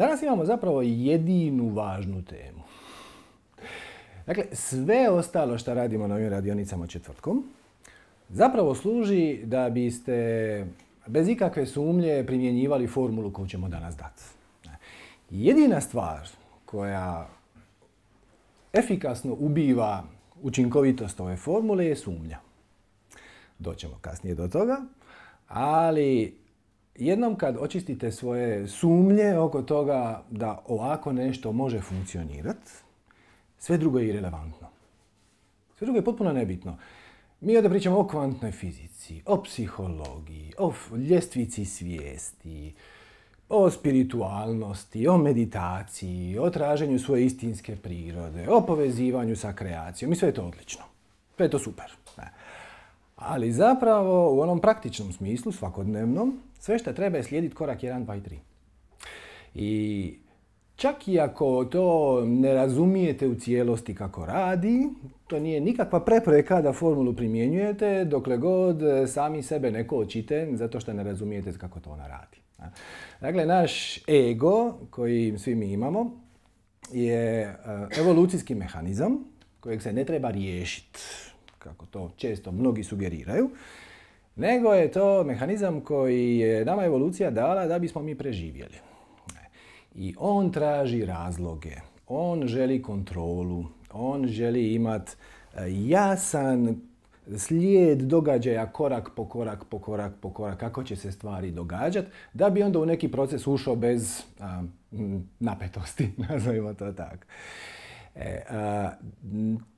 Danas imamo zapravo jedinu važnu temu. Dakle, sve ostalo što radimo na ovim radionicama četvrtkom zapravo služi da biste bez ikakve sumnje primjenjivali formulu koju ćemo danas dati. Jedina stvar koja efikasno ubiva učinkovitost ove formule je sumnja. Doćemo kasnije do toga, ali jednom kad očistite svoje sumnje oko toga da ovako nešto može funkcionirati, sve drugo je irelevantno. Sve drugo je potpuno nebitno. Mi ovdje pričamo o kvantnoj fizici, o psihologiji, o ljestvici svijesti, o spiritualnosti, o meditaciji, o traženju svoje istinske prirode, o povezivanju sa kreacijom i sve je to odlično. Sve je to super. Ali zapravo u onom praktičnom smislu, svakodnevnom, sve što treba je slijediti korak 1, 2 i 3. I čak i ako to ne razumijete u cijelosti kako radi, to nije nikakva prepreka da formulu primjenjujete dokle god sami sebe ne kočite zato što ne razumijete kako to ona radi. Dakle, naš ego koji svi mi imamo je evolucijski mehanizam kojeg se ne treba riješiti, kako to često mnogi sugeriraju, nego je to mehanizam koji je nama evolucija dala da bismo mi preživjeli. I on traži razloge, on želi kontrolu, on želi imati jasan slijed događaja korak po korak, kako će se stvari događati, da bi onda u neki proces ušao bez napetosti, nazovimo to tako.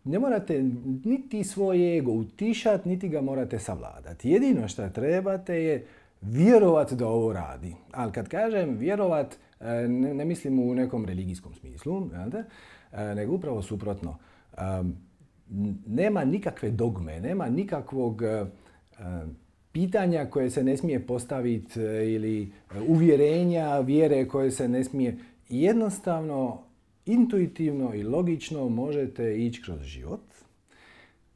Ne morate niti svoj ego utišati, niti ga morate savladati. Jedino što trebate je vjerovati da ovo radi. Ali kad kažem vjerovat, ne mislim u nekom religijskom smislu, nego upravo suprotno. Nema nikakve dogme, nema nikakvog pitanja koje se ne smije postaviti ili uvjerenja, vjere koje se ne smije. Jednostavno, intuitivno i logično možete ići kroz život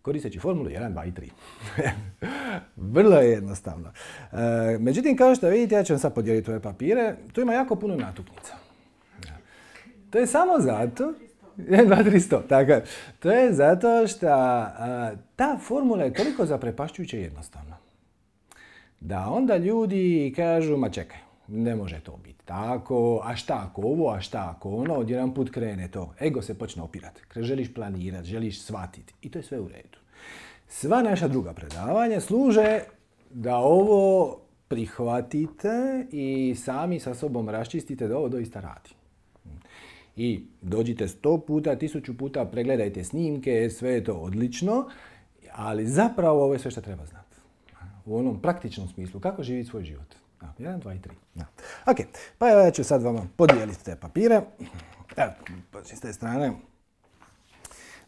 koristeći formulu 1, 2 i 3. Vrlo je jednostavno. Međutim, kao što vidite, ja ću vam sad podijeliti ove papire. Tu ima jako puno natuknica. To je samo zato... 1, 2, 300. Tako. To je zato što ta formula je toliko zaprepašćujuće jednostavna. Da onda ljudi kažu, ma čekaj, ne može to biti tako, a šta ako ovo, a šta ako ono, odjedan put krene to. Ego se počne opirati. Želiš planirati, želiš shvatiti. I to je sve u redu. Sva naša druga predavanja služe da ovo prihvatite i sami sa sobom raščistite da ovo doista radi. I dođite 100 puta, 1000 puta, pregledajte snimke, sve je to odlično, ali zapravo ovo je sve što treba znati. U onom praktičnom smislu, kako živjeti svoj život. 1, 2 i 3. Ok, pa evo ja ću sad vama podijeliti te papire. Evo, s te strane,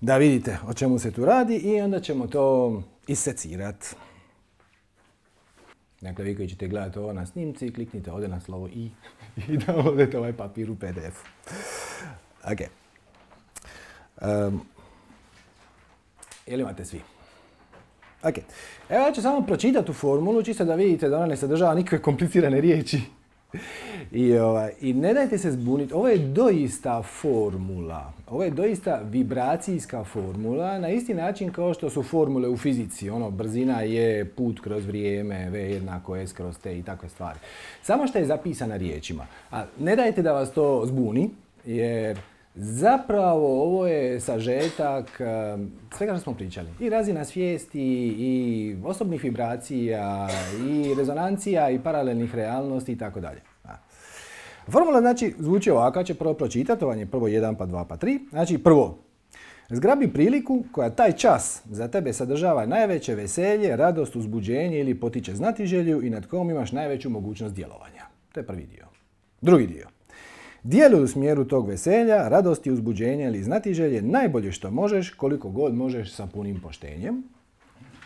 da vidite o čemu se tu radi i onda ćemo to isecirati. Dakle, vi koji ćete gledati ovo na snimci, kliknite ovdje na slovo i downloadite ovaj papir u PDF-u. Ok. Jel imate svi? Ok. Evo ja ću samo pročitati tu formulu, čisto da vidite da ona ne sadržava nikakve komplicirane riječi. I ne dajte se zbuniti, ovo je doista formula. Ovo je doista vibracijska formula, na isti način kao što su formule u fizici. Brzina je put kroz vrijeme, V jednako S kroz T i takve stvari. Samo što je zapisana riječima. A ne dajte da vas to zbuni, jer zapravo ovo je sažetak svega što smo pričali. I razina svijesti, i osobnih vibracija, i rezonancija, i paralelnih realnosti itd. Formula znači zvuči ovako, ja ću prvo pročitati, to vam je prvo 1, pa 2, pa 3. Znači prvo, zgrabi priliku koja taj čas za tebe sadržava najveće veselje, radost, uzbuđenje ili potiče znatiželju i nad kojom imaš najveću mogućnost djelovanja. To je prvi dio. Drugi dio. Djeluj u smjeru tog veselja, radosti, uzbuđenja ili znatiželje najbolje što možeš, koliko god možeš sa punim poštenjem.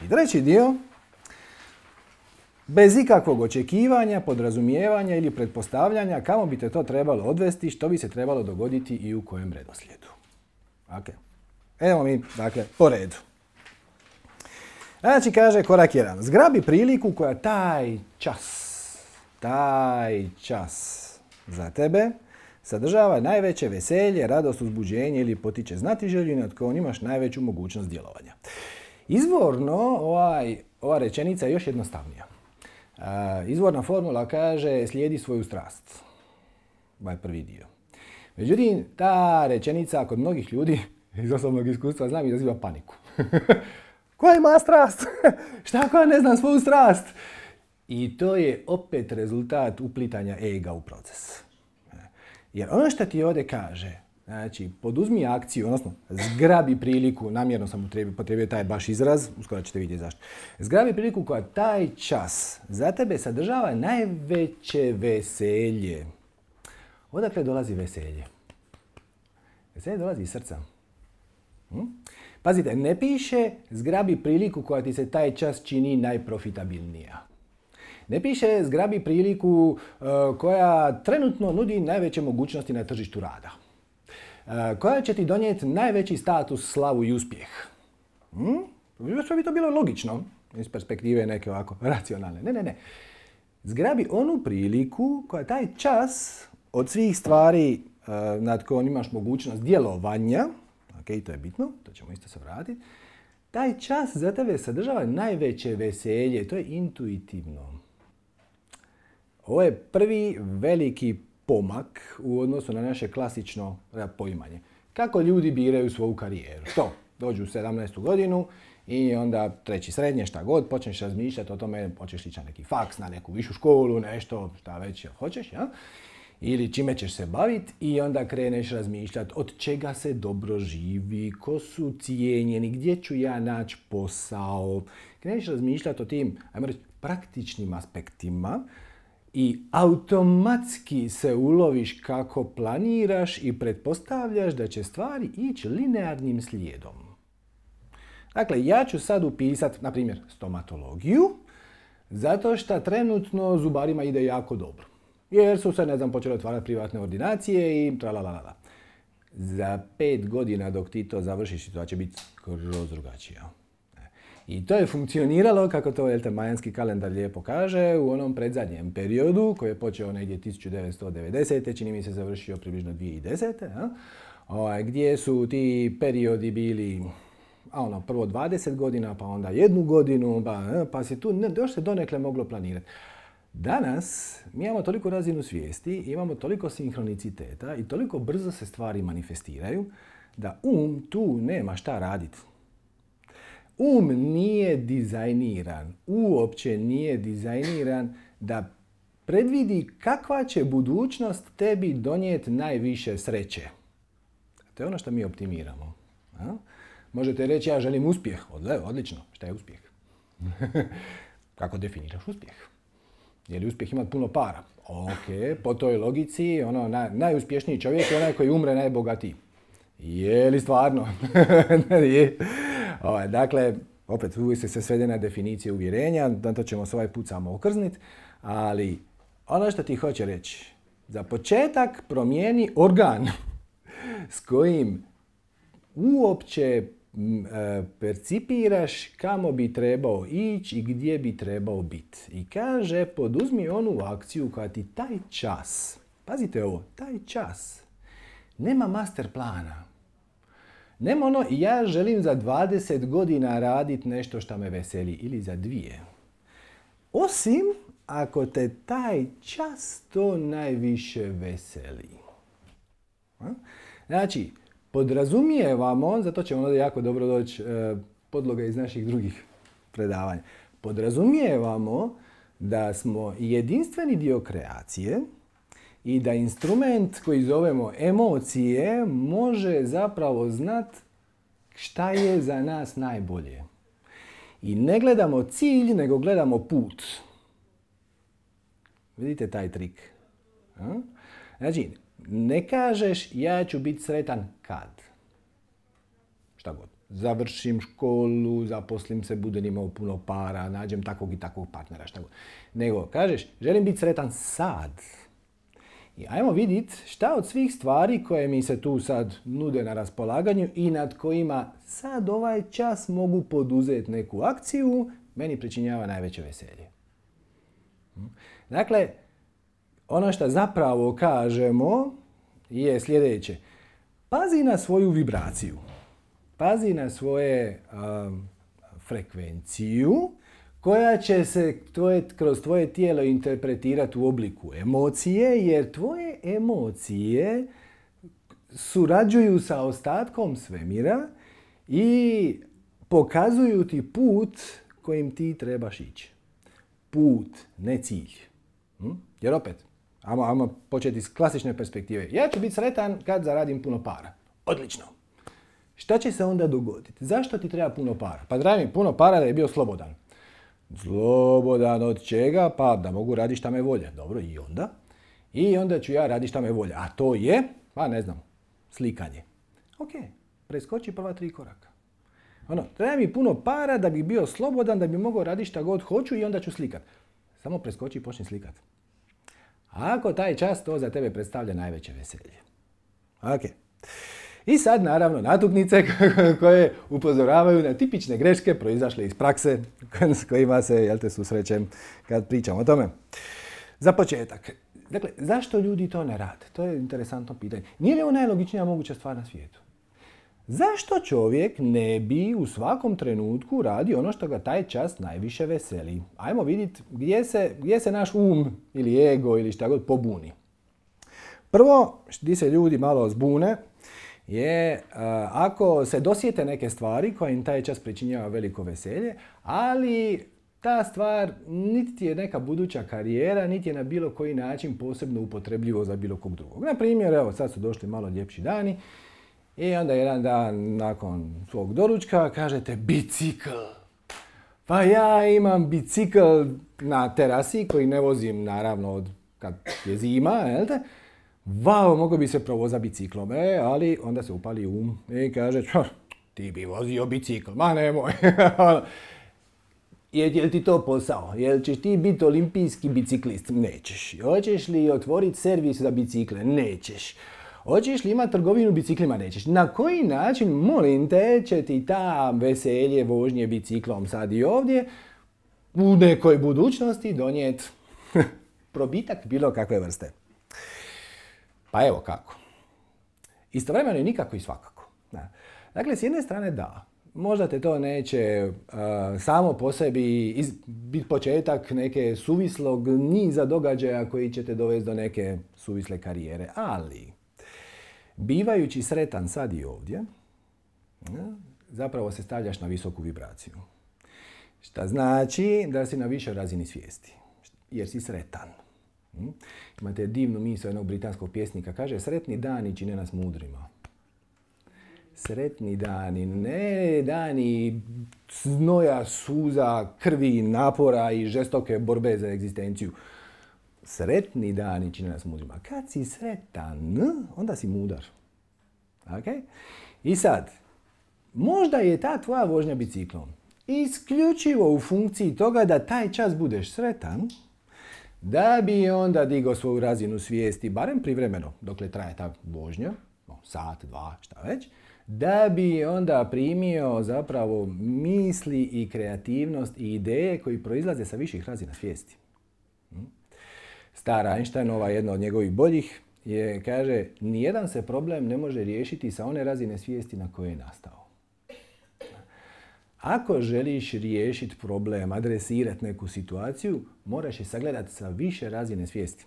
I treći dio, bez ikakvog očekivanja, podrazumijevanja ili pretpostavljanja kamo bi te to trebalo odvesti, što bi se trebalo dogoditi i u kojem redoslijedu. Ok. Idemo mi, dakle, po redu. Znači, kaže korak 1. Zgrabi priliku koja taj čas za tebe sadržava najveće veselje, radost, uzbuđenje ili potiče znatiželju i nad kojom imaš najveću mogućnost djelovanja. Izvorno, ova rečenica je još jednostavnija. Izvorna formula kaže slijedi svoju strast. Ovaj prvi dio. Međutim, ta rečenica kod mnogih ljudi iz osobnog iskustva znam izaziva paniku. Koja ima strast? Šta koja ne zna svoju strast? I to je opet rezultat uplitanja ega u proces. Jer ono što ti ovdje kaže, znači poduzmi akciju, odnosno zgrabi priliku, namjerno sam upotrijebio taj baš izraz, uskoro ćete vidjeti zašto. Zgrabi priliku koja taj čas za tebe sadržava najveće veselje. Odakle dolazi veselje? Veselje dolazi iz srca. Pazite, ne piše zgrabi priliku koja ti se taj čas čini najprofitabilnija. Ne piše zgrabi priliku koja trenutno nudi najveće mogućnosti na tržištu rada. Koja će ti donijeti najveći status, slavu i uspjeh. Što bi to bilo logično iz perspektive neke ovako racionalne. Ne. Zgrabi onu priliku koja taj čas od svih stvari nad kojom imaš mogućnost djelovanja, ok, to je bitno, to ćemo isto se vratiti, taj čas za tebe sadržava najveće veselje, to je intuitivno. Ovo je prvi veliki pomak u odnosu na naše klasično poimanje. Kako ljudi biraju svoju karijeru? To, dođu u 17. godinu i onda treći srednje, šta god, počneš razmišljati o tome, hoćeš ići na neki faks, na neku višu školu, nešto, šta već hoćeš, ja? Ili čime ćeš se baviti i onda kreneš razmišljati od čega se dobro živi, ko su cijenjeni, gdje ću ja naći posao. Kreneš razmišljati o tim, ajmo reći, praktičnim aspektima i automatski se uloviš kako planiraš i pretpostavljaš da će stvari ići linearnim slijedom. Dakle, ja ću sad upisati, na primjer, stomatologiju, zato što trenutno zubarima ide jako dobro. Jer su se, počeli otvarati privatne ordinacije i tralalala. Za 5 godina dok ti to završiš, situacija će biti skroz drugačija. I to je funkcioniralo, kako to majanski kalendar lijepo kaže, u onom predzadnjem periodu, koji je počeo negdje 1990. čini mi se završio približno 2010. Gdje su ti periodi bili prvo 20 godina, pa onda 1 godinu, pa se tu još se donekle moglo planirati. Danas mi imamo toliko razinu svijesti, imamo toliko sinhroniciteta i toliko brzo se stvari manifestiraju da tu nema šta raditi. Nije dizajniran, uopće nije dizajniran da predvidi kakva će budućnost tebi donijeti najviše sreće. To je ono što mi optimiramo. Možete reći ja želim uspjeh. Odlično. Šta je uspjeh? Kako definiraš uspjeh? Je li uspjeh imati puno para? Ok, po toj logici najuspješniji čovjek je onaj koji umre najbogatiji. Je li stvarno? Je. Dakle, opet uvijek se svede na definicije uvjerenja, na to ćemo se ovaj put samo okrzniti, ali ono što ti hoće reći, za početak promijeni organ s kojim uopće percipiraš kamo bi trebao ići i gdje bi trebao biti. I kaže, poduzmi onu akciju koja ti taj čas, pazite ovo, taj čas, nema master plana. Nema ja želim za 20 godina raditi nešto što me veseli ili za 2. Osim ako te taj čas to najviše veseli. Znači, podrazumijevamo, zato će onda jako dobro doći podloga iz naših drugih predavanja. Podrazumijevamo da smo jedinstveni dio kreacije i da instrument koji zovemo emocije može zapravo znati šta je za nas najbolje. I ne gledamo cilj, nego gledamo put. Vidite taj trik? Znači, ne kažeš ja ću biti sretan kad. Šta god. Završim školu, zaposlim se, budem imao puno para, nađem takvog i takvog partnera, šta god. Nego kažeš želim biti sretan sad. I ajmo vidjeti šta od svih stvari koje mi se tu sad nude na raspolaganju i nad kojima sad ovaj čas mogu poduzeti neku akciju, meni pričinjava najveće veselje. Dakle, ono što zapravo kažemo je sljedeće. Pazi na svoju vibraciju. Pazi na svoje frekvenciju koja će se kroz tvoje tijelo interpretirati u obliku emocije, jer tvoje emocije surađuju sa ostatkom svemira i pokazuju ti put kojim ti trebaš ići. Put, ne cilj. Jer opet, ajmo početi s klasične perspektive. Ja ću biti sretan kad zaradim puno para. Odlično. Šta će se onda dogoditi? Zašto ti treba puno para? Pa treba mi puno para da je bio slobodan. Slobodan od čega? Pa da mogu raditi šta me volja. Dobro, i onda? I onda ću ja raditi šta me volja. A to je, pa ne znam, slikanje. Ok, preskoči prva 3 koraka. Treba mi puno para da bi bio slobodan, da bi mogao raditi šta god hoću i onda ću slikat. Samo preskoči i počni slikat. Ako taj čas to za tebe predstavlja najveće veselje. Ok. I sad naravno natuknice koje upozoravaju na tipične greške proizašle iz prakse s kojima se susrećem kad pričam o tome. Za početak. Dakle, zašto ljudi to ne rade? To je interesantno pitanje. Nije li ovo najlogičnija moguća stvar na svijetu? Zašto čovjek ne bi u svakom trenutku radio ono što ga taj čas najviše veseli? Ajmo vidjeti gdje se naš ili ego ili šta god pobuni. Prvo, gdje se ljudi malo zbune, je ako se dosjete neke stvari koje im taj čas pričinjava veliko veselje, ali ta stvar niti je neka buduća karijera, niti je na bilo koji način posebno upotrebljivo za bilo kog drugog. Na primjer, evo sad su došli malo ljepši dani i onda jedan dan nakon svog doručka kažete bicikl. Pa ja imam bicikl na terasi koji ne vozim naravno od kad je zima, jel te? Vau, mogo bi se provoza biciklom, ali onda se upali i kaže, ti bi vozio bicikl, ma nemoj. Jel ti to posao? Jel ćeš ti biti olimpijski biciklist? Nećeš. Hoćeš li otvoriti servis za bicikle? Nećeš. Hoćeš li imati trgovinu biciklima? Nećeš. Na koji način, molim te, će ti ta veselje vožnje biciklom sad i ovdje u nekoj budućnosti donijeti probitak bilo kakve vrste? Pa evo kako. Istovremeno i nikako i svakako. Dakle, s jedne strane da. Možda te to neće samo po sebi biti početak neke suvislog niza događaja koji će te dovesti do neke suvisle karijere. Ali, bivajući sretan sad i ovdje, zapravo se stavljaš na visoku vibraciju. Šta znači da si na višoj razini svijesti. Jer si sretan. Imate divnu misao jednog britanskog pjesnika. Kaže, sretni dani čine nas mudrima. Sretni dani, ne dani znoja, suza, krvi, napora i žestoke borbe za egzistenciju. Sretni dani čine nas mudrima. Kad si sretan, onda si mudar. Okay? I sad, možda je ta tvoja vožnja biciklom isključivo u funkciji toga da taj čas budeš sretan, da bi onda digao svoju razinu svijesti, barem privremeno, dokle traje ta vožnja, sat, 2, šta već, da bi onda primio zapravo misli i kreativnost i ideje koji proizlaze sa viših razina svijesti. Stara Einsteinova, jedna od njegovih boljih, kaže, nijedan se problem ne može riješiti sa one razine svijesti na koje je nastao. Ako želiš riješiti problem, adresirati neku situaciju, moraš je sagledati sa više razine svijesti.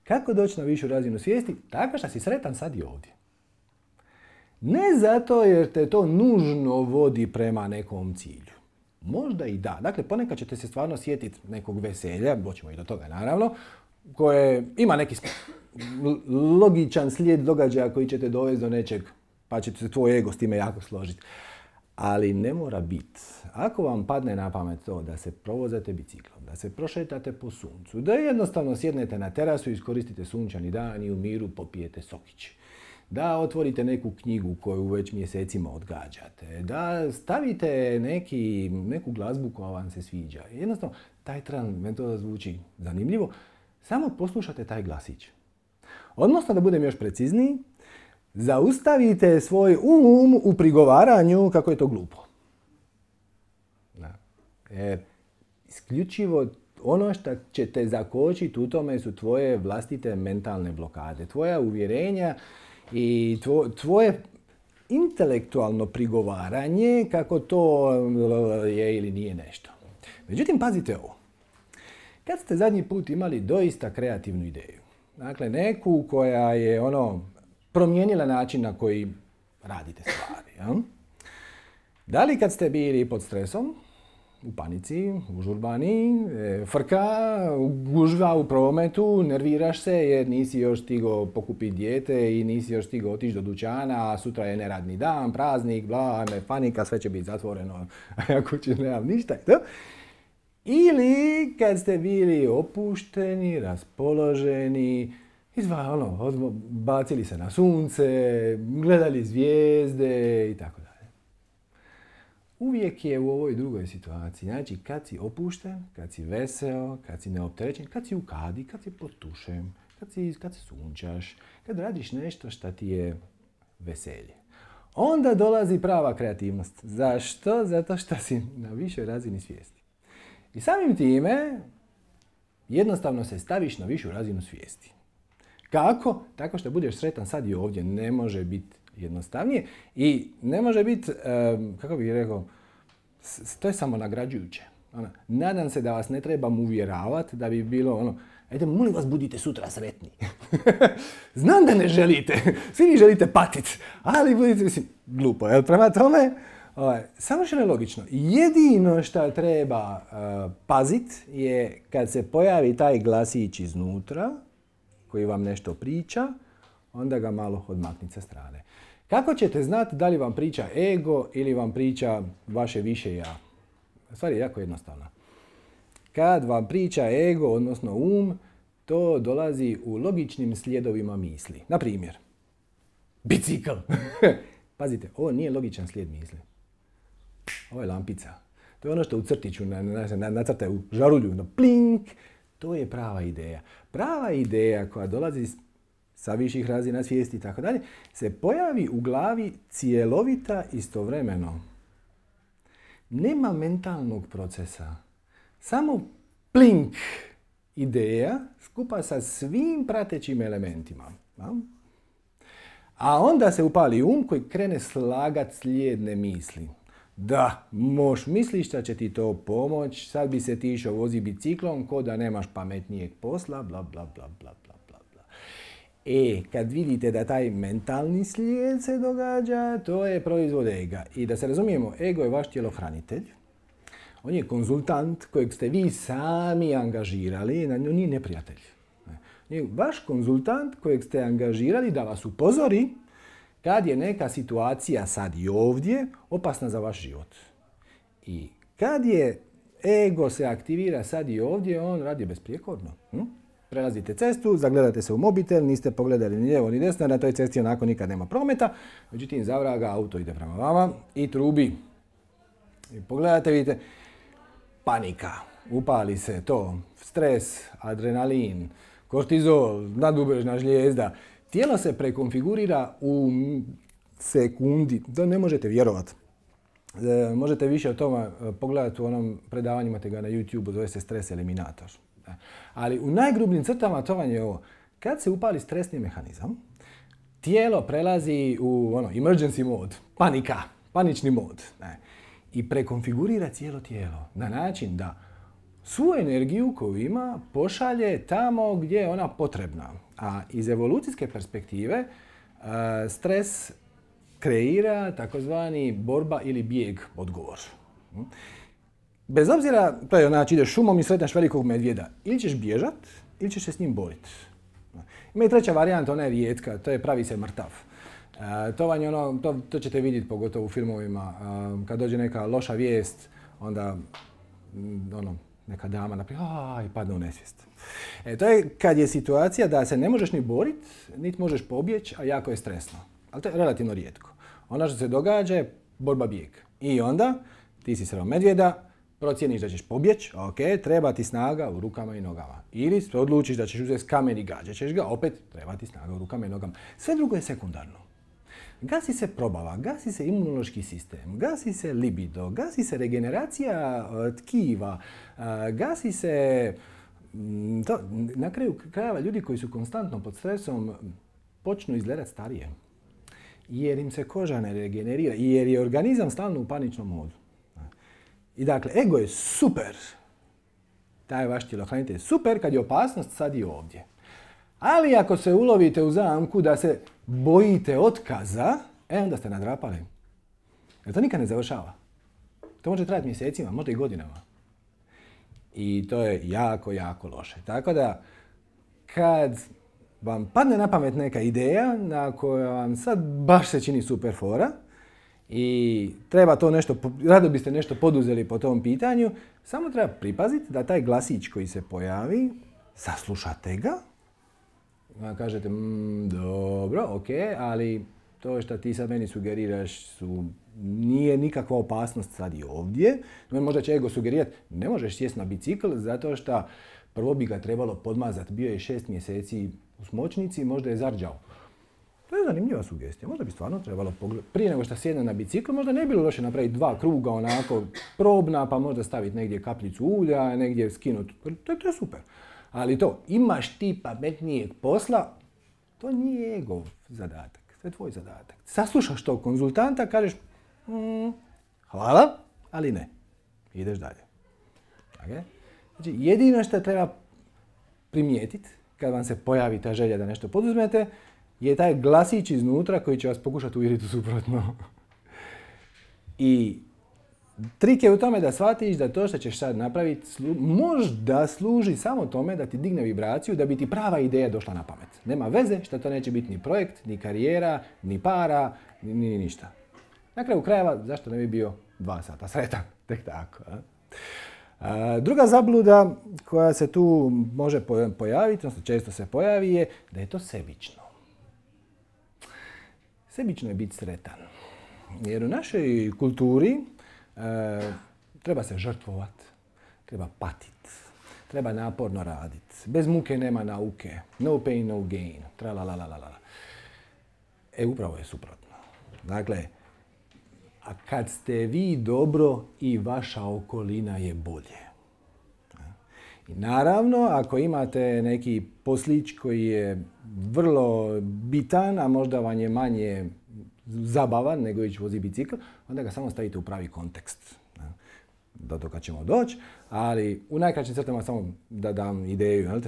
Kako doći na višu razinu svijesti? Tako što si sretan sad i ovdje. Ne zato jer te to nužno vodi prema nekom cilju. Možda i da. Dakle, ponekad ćete se stvarno sjetiti nekog veselja, doćemo i do toga naravno, koje ima neki logičan slijed događaja koji će te dovesti do nečeg, pa će se tvoj ego s time jako složiti. Ali ne mora biti. Ako vam padne na pamet to da se provozate biciklom, da se prošetate po suncu, da jednostavno sjednete na terasu i iskoristite sunčani dan i u miru popijete sokić, da otvorite neku knjigu koju već mjesecima odgađate, da stavite neku glazbu koja vam se sviđa. Jednostavno, taj tran, meni to zvuči zanimljivo, samo poslušate taj glasić. Odnosno, da budem još precizniji, zaustavite svoj u prigovaranju kako je to glupo. Jer isključivo ono što će te zakočiti u tome su tvoje vlastite mentalne blokade, tvoja uvjerenja i tvoje intelektualno prigovaranje kako to je ili nije nešto. Međutim, pazite ovo. Kad ste zadnji put imali doista kreativnu ideju, dakle neku koja je promijenila način na koji radite stvari, ja? Da li kad ste bili pod stresom, u panici, užurbani, frka, gužva u prometu, nerviraš se jer nisi još stigao pokupiti dijete i nisi još stigao otići do dućana, a sutra je neradni dan, praznik, bla, panika, sve će biti zatvoreno, a ja kući nemam ništa. Ili kad ste bili opušteni, raspoloženi, bacili se na sunce, gledali zvijezde i tako dalje. Uvijek je u ovoj drugoj situaciji. Znači, kad si opušten, kad si veseo, kad si neopterećen, kad si u kadi, kad si pod tušem, kad se sunčaš, kad radiš nešto što ti je veselje. Onda dolazi prava kreativnost. Zašto? Zato što si na višoj razini svijesti. I samim time jednostavno se staviš na višu razinu svijesti. Kako? Tako što budeš sretan sad i ovdje. Ne može biti jednostavnije i ne može biti, kako bih rekao, to je samo nagrađujuće. Nadam se da vas ne trebam uvjeravati da bi bilo ajde, molim vas, budite sutra sretni. Znam da ne želite, svi vi želite patiti, ali budite, glupo, jel? Prema tome, savršeno je logično. Jedino što treba paziti je kad se pojavi taj glasić iznutra, koji vam nešto priča, onda ga malo odmaknite sa strane. Kako ćete znati da li vam priča ego ili vam priča vaše više ja? Stvar je jako jednostavna. Kad vam priča ego, odnosno to dolazi u logičnim slijedovima misli. Na primjer, bicikl. Pazite, ovo nije logičan slijed misli. Ovo je lampica. To je ono što u crtiću nacrte u žarulju, plink. To je prava ideja. Prava ideja koja dolazi sa viših razina svijesti i tako dalje, se pojavi u glavi cjelovita istovremeno. Nema mentalnog procesa. Samo plink ideja skupa sa svim pratećim elementima. A onda se upali koji krene slagat slijedne misli. Da, misliš da će ti to pomoć, sad bi se ti išao vozi biciklom, ko da nemaš pametnijeg posla, bla, bla, bla, bla, bla, bla, bla. Kad vidite da taj mentalni slijed se događa, to je proizvod ega. I da se razumijemo, ego je vaš tjelohranitelj. On je konzultant kojeg ste vi sami angažirali, on nije neprijatelj. On je vaš konzultant kojeg ste angažirali da vas upozori kad je neka situacija sad i ovdje opasna za vaš život. I kad je ego se aktivira sad i ovdje, on radi besprijekorno. Prelazite cestu, zagledate se u mobitel, niste pogledali ni lijevo ni desno, na toj cesti onako nikad nema prometa. Međutim, zavraga, auto ide prema vama i trubi. I pogledate, vidite, panika, upali se to, stres, adrenalin, kortizol, nadubrežna žlijezda. Tijelo se prekonfigurira u sekundi, to ne možete vjerovati. Možete više o tome pogledati u onom predavanju, imate ga na YouTube, zove se Stres eliminator. Ali u najgrubljim crtama to vam je ovo. Kad se upali stresni mehanizam, tijelo prelazi u emergency mode, panika, panični mod. I prekonfigurira cijelo tijelo na način da svu energiju koju ima pošalje tamo gdje je ona potrebna. A iz evolucijske perspektive stres kreira takozvani borba ili bijeg odgovor. Bez obzira, to je ideš šumom i sretneš velikog medvjeda. Ili ćeš bježat, ili ćeš se s njim boriti. Ima i treća varijanta, ona je rijetka, to je pravi se mrtav. To ćete vidjeti pogotovo u filmovima. Kad dođe neka loša vijest, onda neka dama napravi i padne u nesvijest. To je kad je situacija da se ne možeš ni boriti, niti možeš pobjeći, a jako je stresno. Ali to je relativno rijetko. Ono što se događa je borba bijeg. I onda ti si sreo medvjeda, procijeniš da ćeš pobjeći, treba ti snaga u rukama i nogama. Ili odlučiš da ćeš uzeti kamen i gađat ćeš ga, opet treba ti snaga u rukama i nogama. Sve drugo je sekundarno. Gasi se probava, gasi se imunološki sistem, gasi se libido, gasi se regeneracija tkiva, gasi se... Na kraju krajeva ljudi koji su konstantno pod stresom počnu izgledati starije. Jer im se koža ne regenerira, jer je organizam stalno u paničnom modu. I dakle, ego je super. Taj vaš tjelohranitelj je super kad je opasnost sad i ovdje. Ali ako se ulovite u zamku da se bojite otkaza, onda ste nadrapali. Jer to nikad ne završava. To može trajati mjesecima, možda i godinama. I to je jako, jako loše. Tako da, kad vam padne na pamet neka ideja na koja vam sad baš se čini super fora i treba to nešto, rado biste nešto poduzeli po tom pitanju, samo treba pripaziti da taj glasić koji se pojavi, saslušate ga, kažete, dobro, ok, ali to što ti sad meni sugeriraš nije nikakva opasnost sad i ovdje. Možda će ego sugerirati, ne možeš sjesti na bicikl zato što prvo bi ga trebalo podmazati. Bio je 6 mjeseci u smočnici, možda je zarđao. To je zanimljiva sugestija. Možda bi stvarno trebalo pogledati. Prije nego što sjedne na bicikl, možda ne bi bilo loše napraviti 2 kruga onako probna, pa možda staviti negdje kapljicu ulja, negdje skinuti. To je super. Ali to, imaš ti pametnijeg posla, to nije egov zadatak. To je tvoj zadatak. Saslušaš tog konzultanta, kažeš hvala, ali ne. Ideš dalje. Okay? Znači, jedino što treba primijetiti kad vam se pojavi ta želja da nešto poduzmete je taj glasić iznutra koji će vas pokušati uvjeriti u suprotno. I trik je u tome da shvatiš da to što ćeš sad napraviti možda služi samo tome da ti digne vibraciju, da bi ti prava ideja došla na pamet. Nema veze što to neće biti ni projekt, ni karijera, ni para, ni ništa. Na kraju krajeva, zašto ne bi bio 2 sata sretan? Tek tako. Druga zabluda koja se tu može pojaviti, odnosno često se pojavi, je da je to sebično. Sebično je biti sretan. Jer u našoj kulturi treba se žrtvovati, treba patiti, treba naporno raditi. Bez muke nema nauke. No pain, no gain. Tralalalala. Upravo je suprotno. Dakle, a kad ste vi dobro i vaša okolina je bolje. I naravno, ako imate neki poslić koji je vrlo bitan, a možda vam je manje zabavan nego ići vozi bicikl, onda ga samo stavite u pravi kontekst. Do toga ćemo doći, ali u najkraćim crtama samo da dam ideju.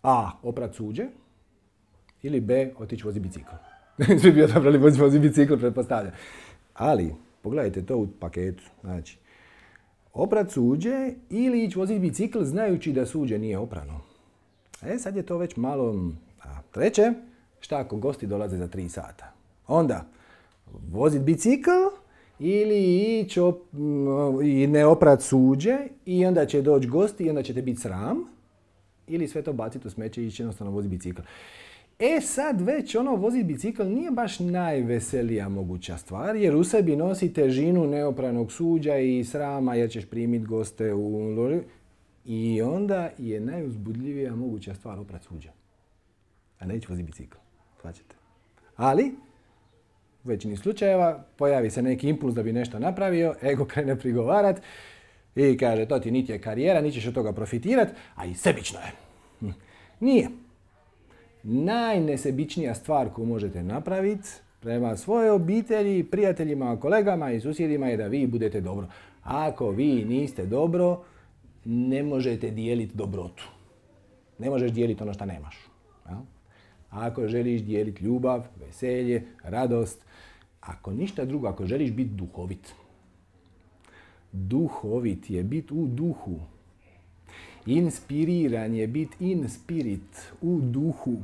A. Oprat suđe ili B. Otići vozi bicikl. Svi bi odabrali vozi bicikl, pretpostavljam. Ali, pogledajte to u paketu. Znači, oprat suđe ili ići voziti bicikl znajući da suđe nije oprano. Sad je to već malo... Treće, šta ako gosti dolaze za 3 sata? Onda, voziti bicikl ili ići i ne oprat suđe i onda će doći gosti i onda ćete biti sram ili sve to baciti u smeće i ići jednostavno voziti bicikl. Sad već voziti bicikl nije baš najveselija moguća stvar, jer u sebi nosi težinu neopranog suđa i srama jer ćeš primiti goste u loži. I onda je najuzbudljivija moguća stvar oprat suđa. A neće voziti bicikl. Shvaćate? Ali, u većini slučajeva pojavi se neki impuls da bi nešto napravio, ego krene prigovarat i kaže to ti niti je karijera, niti ćeš od toga profitirati, a i sebično je. Nije. Najnesebičnija stvar koju možete napraviti prema svojoj obitelji, prijateljima, kolegama i susjedima je da vi budete dobro. Ako vi niste dobro, ne možete dijeliti dobrotu. Ne možeš dijeliti ono što nemaš. Ako želiš dijeliti ljubav, veselje, radost, ako ništa drugo, ako želiš biti duhovit. Duhovit je biti u duhu. Inspiriran je biti in spirit, u duhu,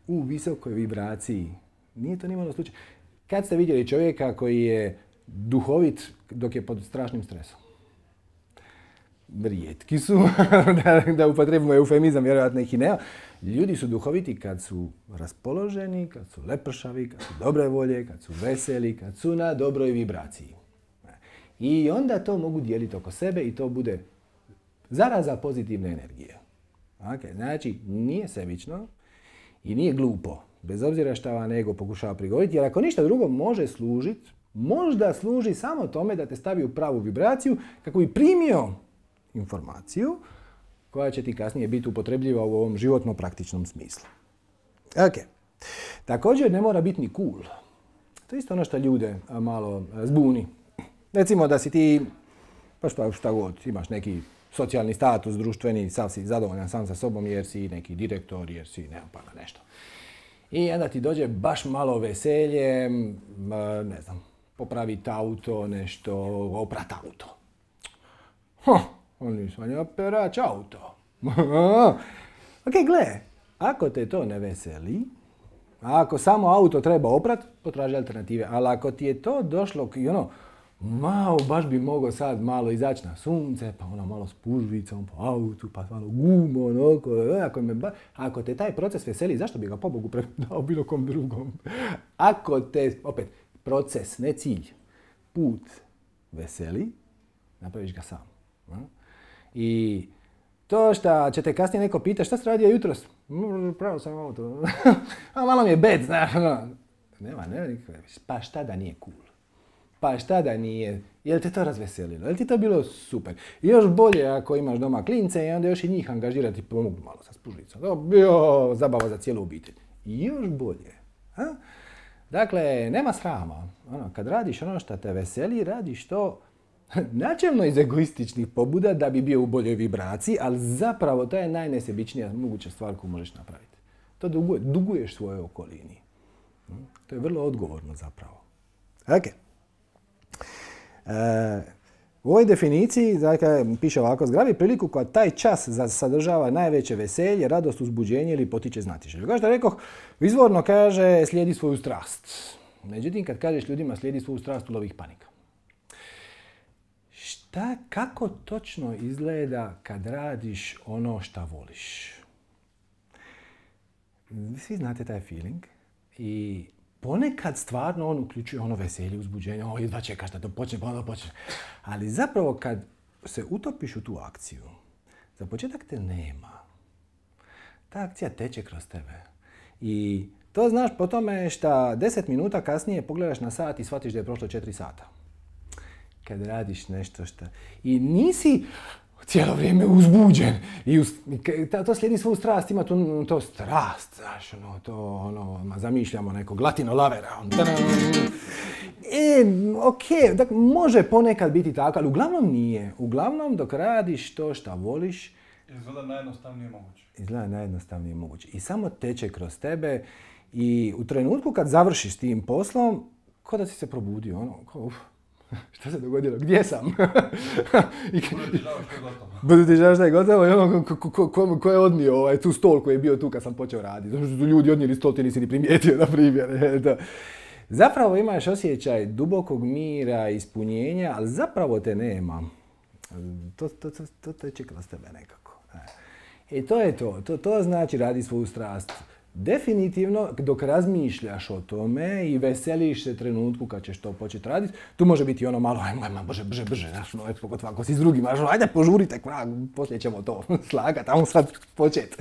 u visokoj vibraciji. Nije to nimalo slučaj. Kad ste vidjeli čovjeka koji je duhovit dok je pod strašnim stresom? Rijetki su, da upotrebimo eufemizam, vjerojatno ih i nema. Ljudi su duhoviti kad su raspoloženi, kad su lepršavi, kad su dobre volje, kad su veseli, kad su na dobroj vibraciji. I onda to mogu dijeliti oko sebe i to bude zaraza pozitivne energije. Okay, znači, nije sebično i nije glupo Bez obzira šta vam ego pokušava prigovoriti, jer ako ništa drugo može služiti, možda služi samo tome da te stavi u pravu vibraciju kako bi primio informaciju koja će ti kasnije biti upotrebljiva u ovom životno praktičnom smislu. Ok. Također ne mora biti ni cool. To je isto ono što ljude malo zbuni. Recimo da si ti, pa šta god, imaš neki socijalni status, društveni, sav si zadovoljan sam sa sobom jer si neki direktor, jer si nemam pa nešto. I onda ti dođe baš malo veselje, ne znam, popraviti auto, nešto, oprat auto. On nisam ja perač auto. Ok, gle, ako te to ne veseli, a ako samo auto treba oprat, potraži alternative. Ali ako ti je to došlo i baš bi mogao sad malo izaći na sunce, pa malo s pužvicom po autu, pa malo gumom, ako te taj proces veseli, zašto bi ga pobogu predao bilo kom drugom? Ako te, opet, proces, ne cilj, put veseli, napraviš ga sam. I to što će te kasnije neko pita, šta si radio jutros? Pravo sam auto. Malo mi je bed, znaš. Nema nikakve. Pa šta da nije cool? Pa šta da nije? Jel te to razveselilo? Jel ti to bilo super? I još bolje ako imaš doma klince i onda još i njih angažirati i pomognu malo sa spužicom. To bi bio zabava za cijelu obitelj. I još bolje. Dakle, nema srama. Kad radiš ono što te veseli, radiš to načelno iz egoističnih pobuda da bi bio u boljoj vibraciji, ali zapravo to je najnesebičnija moguća stvar koju možeš napraviti. To duguješ svojoj okolini. To je vrlo odgovorno zapravo. Ok. U ovoj definiciji piše ovako, zgrabi priliku koja taj čas sadržava najveće veselje, radost, uzbuđenje ili potiče znatiželju. Kao što rekoh, izvorno kaže slijedi svoju strast. Međutim, kad kažeš ljudima slijedi svoju strast, ulovi ih panika. Kako točno izgleda kad radiš ono šta voliš? Svi znate taj feeling i ponekad stvarno on uključuje ono veselje, uzbuđenje, jedva čekaš da to počne, pa onda počne. Ali zapravo kad se utopiš u tu akciju, za početak te nema. Ta akcija teče kroz tebe. I to znaš po tome što 10 minuta kasnije pogledaš na sat i shvatiš da je prošlo 4 sata. Kad radiš nešto što... I nisi cijelo vrijeme uzbuđen. To slijedi svoju strast, ima to strast, znaš, zamišljamo nekog latino lavera. Ok, dakle, može ponekad biti tako, ali uglavnom nije. Uglavnom, dok radiš to što voliš... Izgleda najjednostavnije moguće. I samo teče kroz tebe i u trenutku kad završiš s tim poslom, ko da si se probudio, šta se dogodilo? Gdje sam? Budu ti žao što je gotovo i ko je odnio tu stol koji je bio tu kad sam počeo raditi. Zato što su ljudi odnijeli stol, ti nisi ni primijetio, na primjer. Zapravo imaš osjećaj dubokog mira, ispunjenja, ali zapravo te nema. To teče kroz tebe nekako. I to je to. To znači radi svoju strast. Definitivno, dok razmišljaš o tome i veseliš se trenutku kad ćeš to početi raditi, tu može biti malo, ajmo, brže, znaš, pogotovo ako si s drugim, ajde požurite, poslije ćemo to slagati, ajmo sad početi.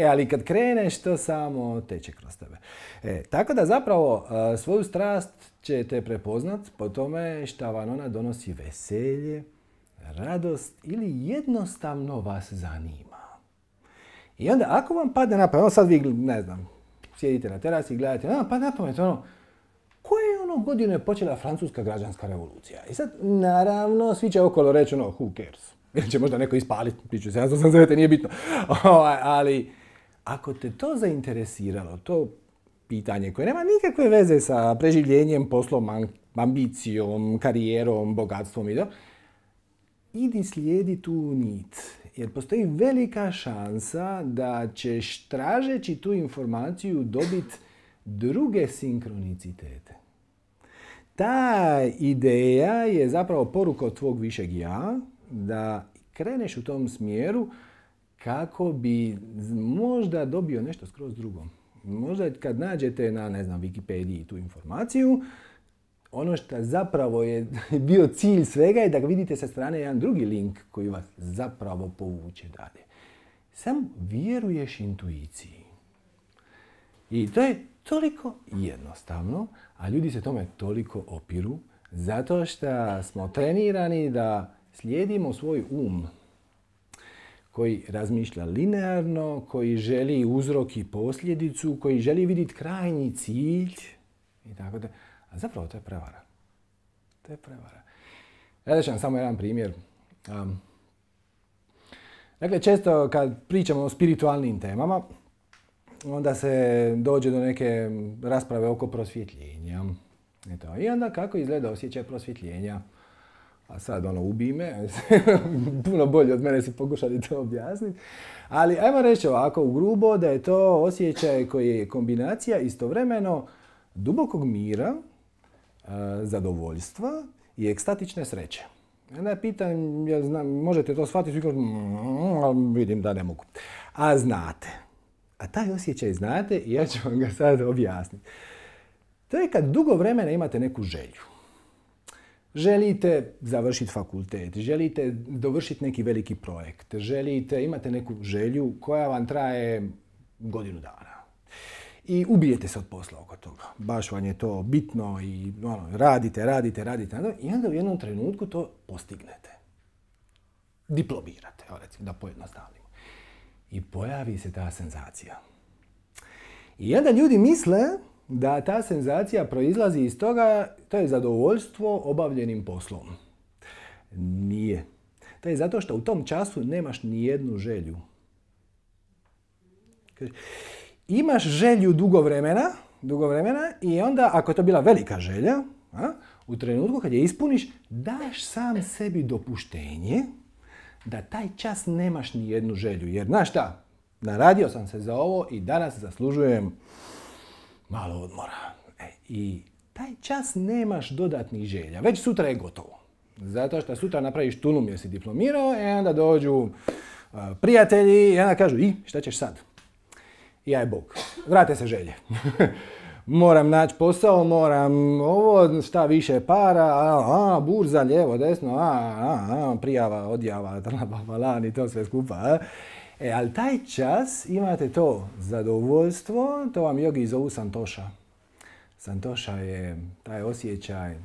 Ali kad kreneš, to samo teče kroz tebe. Tako da zapravo svoju strast ćete prepoznat po tome šta vam ona donosi veselje, radost ili jednostavno vas zanima. I onda ako vam padne na pamet, sad vi, ne znam, sjedite na terasi i gledate, padne na pamet koje godine počela Francuska građanska revolucija? I sad, naravno, svi će okolo reći who cares? Ili će možda neko ispaliti, 1789, nije bitno. Ali, ako te to zainteresiralo, to pitanje koje nema nikakve veze sa preživljenjem, poslom, ambicijom, karijerom, bogatstvom i to, idi slijedi tu nit. Jer postoji velika šansa da ćeš tražeći tu informaciju dobiti druge sinkronicitete. Ta ideja je zapravo poruka od tvog višeg ja da kreneš u tom smjeru kako bi možda dobio nešto skroz drugo. Možda kad nađete na, Wikipediji tu informaciju, ono što zapravo je bio cilj svega je da ga vidite sa strane jedan drugi link koji vas zapravo povuče dalje. Sam vjeruješ intuiciji. I to je toliko jednostavno, a ljudi se tome toliko opiru, zato što smo trenirani da slijedimo svoj koji razmišlja linearno, koji želi uzrok i posljedicu, koji želi vidjeti krajnji cilj. I tako da. A zapravo to je prevara. To je prevara. Ja ću vam samo jedan primjer. Dakle, često kad pričamo o spiritualnim temama, onda se dođe do neke rasprave oko prosvjetljenja. Eto. I onda kako izgleda osjećaj prosvjetljenja. A sad ubij me, puno bolje od mene si pokušali to objasniti. Ali ajmo reći ovako u grubo da je to osjećaj koji je kombinacija istovremeno dubokog mira, zadovoljstva i ekstatične sreće. Onda ja pitam, možete to shvatiti? Vidim da ne mogu. A znate. A taj osjećaj znate i ja ću vam ga sad objasniti. To je kad dugo vremena imate neku želju. Želite završiti fakultet, želite dovršiti neki veliki projekt, imate neku želju koja vam traje godinu dana. I ubijete se od posla oko toga. Baš vam je to bitno i radite. I onda u jednom trenutku to postignete. Diplomirate, recimo, da pojednostavimo. I pojavi se ta senzacija. I onda ljudi misle da ta senzacija proizlazi iz toga, to je zadovoljstvo obavljenim poslom. Nije. To je zato što u tom času nemaš ni jednu želju. Imaš želju dugo vremena i onda, ako je to bila velika želja, u trenutku kad je ispuniš, daš sam sebi dopuštenje da taj čas nemaš ni jednu želju. Jer, znaš šta, naradio sam se za ovo i danas zaslužujem malo odmora. I taj čas nemaš dodatnih želja. Već sutra je gotovo. Zato što sutra napraviš tulum jer si diplomirao i onda dođu prijatelji i onda kažu šta ćeš sad? I aj Bog, vrate se želje. Moram naći posao, moram ovo, šta više para, burza, lijevo, desno, prijava, odjava, i to sve skupa. Ali taj čas imate to zadovoljstvo, to vam jogi zovu santoša. Santoša je taj osjećaj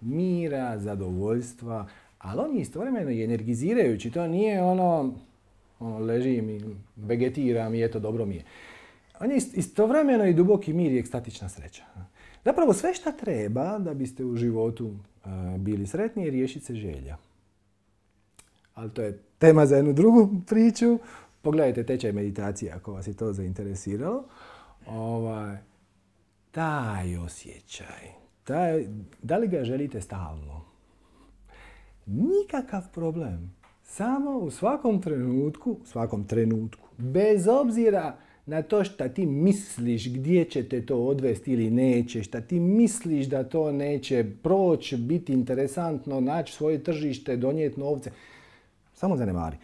mira, zadovoljstva, ali on je istovremeno i energizirajući. To nije ležim i vegetiram i eto dobro mi je. On je istovremeno i duboki mir i ekstatična sreća. Zapravo sve šta treba da biste u životu bili sretni je riješiti se želja. Ali to je tema za jednu drugu priču. Pogledajte tečaj meditacije ako vas je to zainteresiralo. Taj osjećaj, da li ga želite stalno? Nikakav problem. Samo u svakom trenutku, bez obzira na to šta ti misliš gdje će te to odvesti ili neće, šta ti misliš da to neće proći, biti interesantno, naći svoje tržište, donijeti novce. Samo zanemari.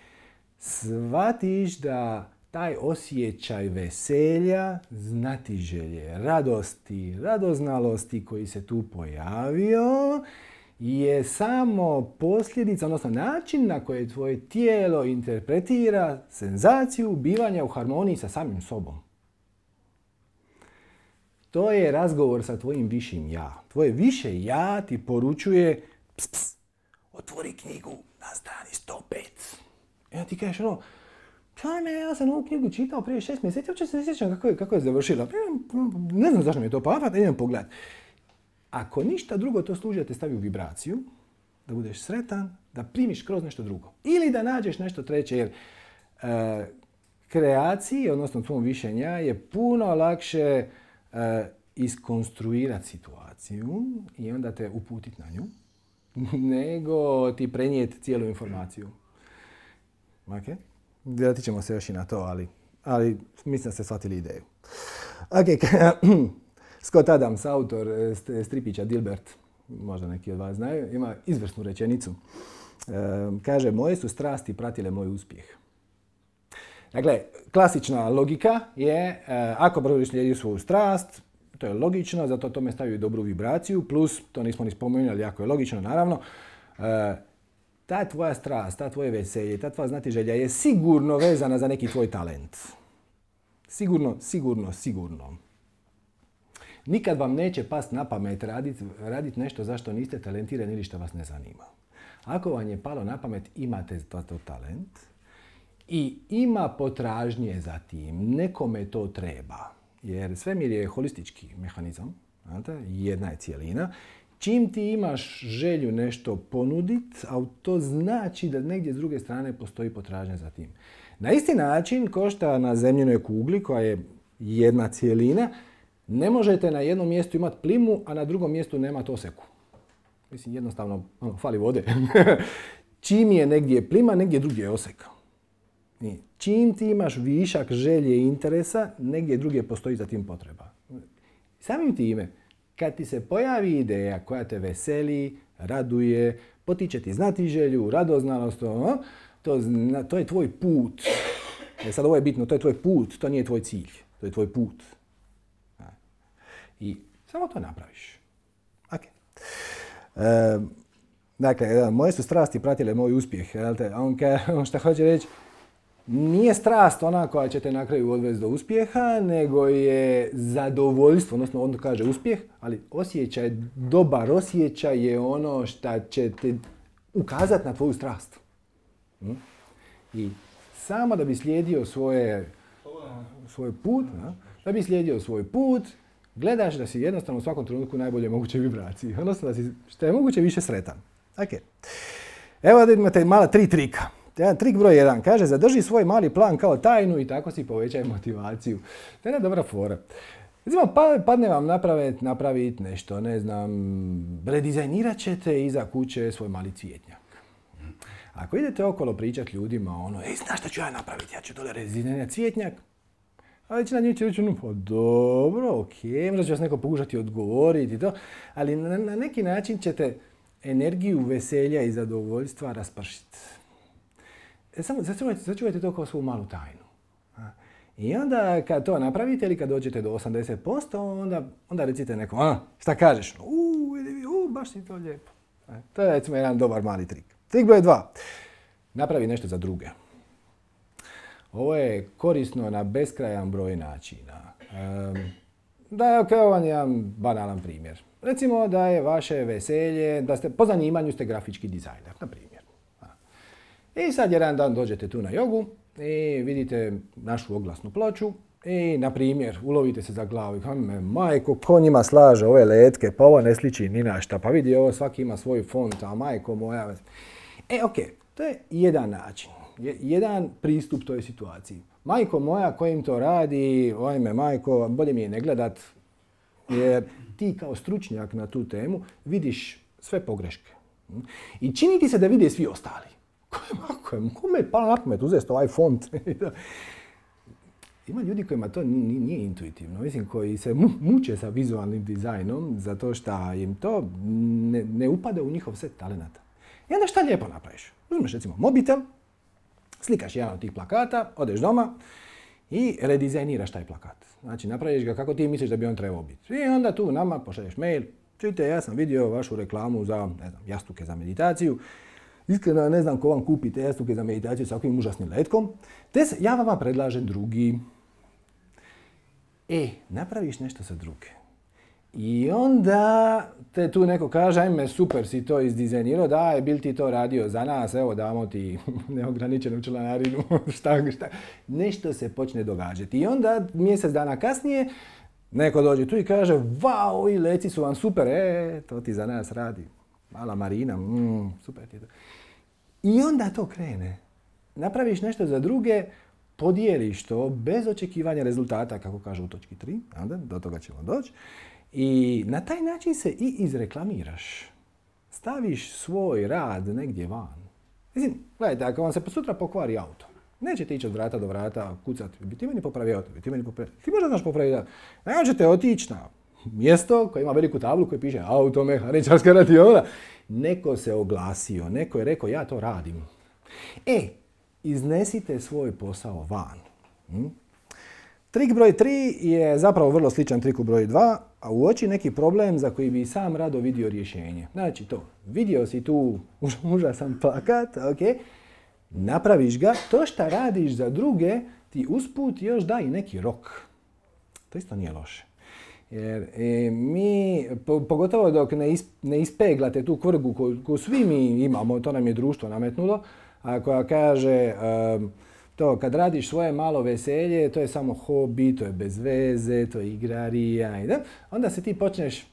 Shvatiš da taj osjećaj veselja, znatiželje, radosti, radoznalosti koji se tu pojavio je samo posljedica, odnosno način na koji tvoje tijelo interpretira senzaciju bivanja u harmoniji sa samim sobom. To je razgovor sa tvojim višim ja. Tvoje više ja ti poručuje otvori knjigu na strani 105. I onda ti kažeš ja sam ovu knjigu čitao prije 6 mjeseci, uopće se ne sjećam kako je završila. Ne znam zašto mi je to palo, idem pogledat. Ako ništa drugo, to služi da te stavi u vibraciju, da budeš sretan, da primiš kroz nešto drugo. Ili da nađeš nešto treće, jer kreaciji, odnosno tvom višenja, je puno lakše iskonstruirati situaciju i onda te uputiti na nju, nego ti prenijeti cijelu informaciju. Ok? Vratit ćemo se još i na to, ali mislim da ste shvatili ideju. Ok, Scott Adams, autor stripića Dilbert, možda neki od vas znaju, ima izvrsnu rečenicu. Kaže, moje su strasti pratile moj uspjeh. Dakle, klasična logika je, ako brzo slijedi svoju strast, to je logično, zato tome stavio dobru vibraciju, plus, to nismo ni spomenuli, jako je logično, naravno, ta tvoja strast, ta tvoje veselje, ta tvoja znatiželja je sigurno vezana za neki tvoj talent. Sigurno. Nikad vam neće past na pamet raditi nešto zašto niste talentirani ili što vas ne zanima. Ako vam je palo na pamet, imate to talent i ima potražnje za tim. Nekome to treba. Jer svemir je holistički mehanizam. Jedna je cijelina. Čim ti imaš želju nešto ponuditi, a to znači da negdje s druge strane postoji potražnja za tim. Na isti način, kao što na zemljinoj kugli, koja je jedna cijelina, ne možete na jednom mjestu imati plimu, a na drugom mjestu nemati oseku. Mislim, jednostavno, fali vode. Čim je negdje plima, negdje drugdje je oseka. I čim ti imaš višak želje i interesa, negdje drugdje postoji za tim potreba. Samim time, kad ti se pojavi ideja koja te veseli, raduje, potiče ti znati želju, radoznalost, to je tvoj put. Sad ovo je bitno, to je tvoj put, to nije tvoj cilj, to je tvoj put. I samo to napraviš. Okay. Dakle, moje su strasti pratile moj uspjeh. On što hoće reći, nije strast ona koja će te na kraju odvesti do uspjeha, nego je zadovoljstvo, odnosno on kaže uspjeh, ali osjećaj, dobar osjećaj je ono što će te ukazati na tvoju strast. I samo da bi slijedio svoj put, da bi slijedio svoj put, gledaš da si jednostavno u svakom trenutku najbolje moguće vibraciji, odnosno da si što je moguće više sretan. Okay. Evo da imate mala 3 trika. Trik broj 1 kaže zadrži svoj mali plan kao tajnu i tako si povećaj motivaciju. To je jedna dobra fora. Recimo, padne vam napraviti nešto, ne znam, redizajnirat ćete iza kuće svoj mali cvjetnjak. Ako idete okolo pričati ljudima, znaš šta ću ja napraviti, ja ću dole redizajnirati cvjetnjak. A većina njih će reći, pa dobro, okej, možda će vas neko pokušati odgovoriti i to, ali na neki način ćete energiju veselja i zadovoljstva raspršiti. Samo začuvajte to kao svoju malu tajnu. I onda kad to napravite ili kad dođete do 80%, onda recite nekom, šta kažeš? Baš si to lijepo. To je recimo jedan dobar mali trik. Trik broj 2. Napravi nešto za druge. Ovo je korisno na beskrajan broj načina. Ovo je jedan banalan primjer. Recimo da je vaše veselje, da ste po zanimanju ste grafički dizajner, na primjer. I sad jedan dan dođete tu na jogu i vidite našu oglasnu ploču i, na primjer, ulovite se za glavu i majko, ko njima slaže ove letke, pa ovo ne sliči ni na šta, pa vidi ovo, svaki ima svoj font, a majko moja... to je jedan način, jedan pristup toj situaciji. Majko moja, kojim to radi, majko, bolje mi je ne gledat, jer ti kao stručnjak na tu temu vidiš sve pogreške. I čini ti se da vide svi ostali. Kome je palo na pamet uzeti ovaj font? Ima ljudi kojima to nije intuitivno, mislim, koji se muče sa vizualnim dizajnom zato što im to ne upada u njihov set talenata. I onda šta lijepo napraviš? Uzmeš recimo mobitel, slikaš jedan od tih plakata, odeš doma i redizajniraš taj plakat. Znači napraviš ga kako ti misliš da bi on trebao biti. I onda tu nama pošalješ mail, čujte, ja sam vidio vašu reklamu za, jastuke za meditaciju. Iskreno ne znam ko vam kupi te jastuke za meditaciju sa ovim užasnim letkom. Ja vama predlažem drugi. Napraviš nešto za druge. I onda te tu neko kaže, ajme, super si to izdizajnirao, daj, bil ti to radio za nas, evo damo ti neograničenu članarinu, šta. Nešto se počne događati. I onda mjesec dana kasnije neko dođe tu i kaže, vau, ovi leci su vam super, to ti za nas radi. Mala Marina, super ti to. I onda to krene. Napraviš nešto za druge, podijeliš to bez očekivanja rezultata, kako kažu u točki 3, onda do toga ćemo doći. I na taj način se i izreklamiraš. Staviš svoj rad negdje van. Mislim, gledajte, ako vam se sutra pokvari auto, nećete ići od vrata do vrata, kucati, bi ti meni popravio auto, ti možda znaš popraviti auto. Ne ćete otići na mjesto koje ima veliku tablu koja piše automehaničarska radiona. Neko se oglasio, neko je rekao ja to radim. Iznesite svoj posao van. Trik broj 3 je zapravo vrlo sličan triku broj 2, a uoči neki problem za koji bi sam rado vidio rješenje. Znači to, vidio si tu užasan plakat, napraviš ga, to što radiš za druge ti usput još da i neki rok. To isto nije loše. Jer mi, pogotovo dok ne ispeglate tu kvrgu koju svi mi imamo, to nam je društvo nametnulo, a koja kaže to kad radiš svoje malo veselje, to je samo hobi, to je bez veze, to je igrarija, onda se ti počneš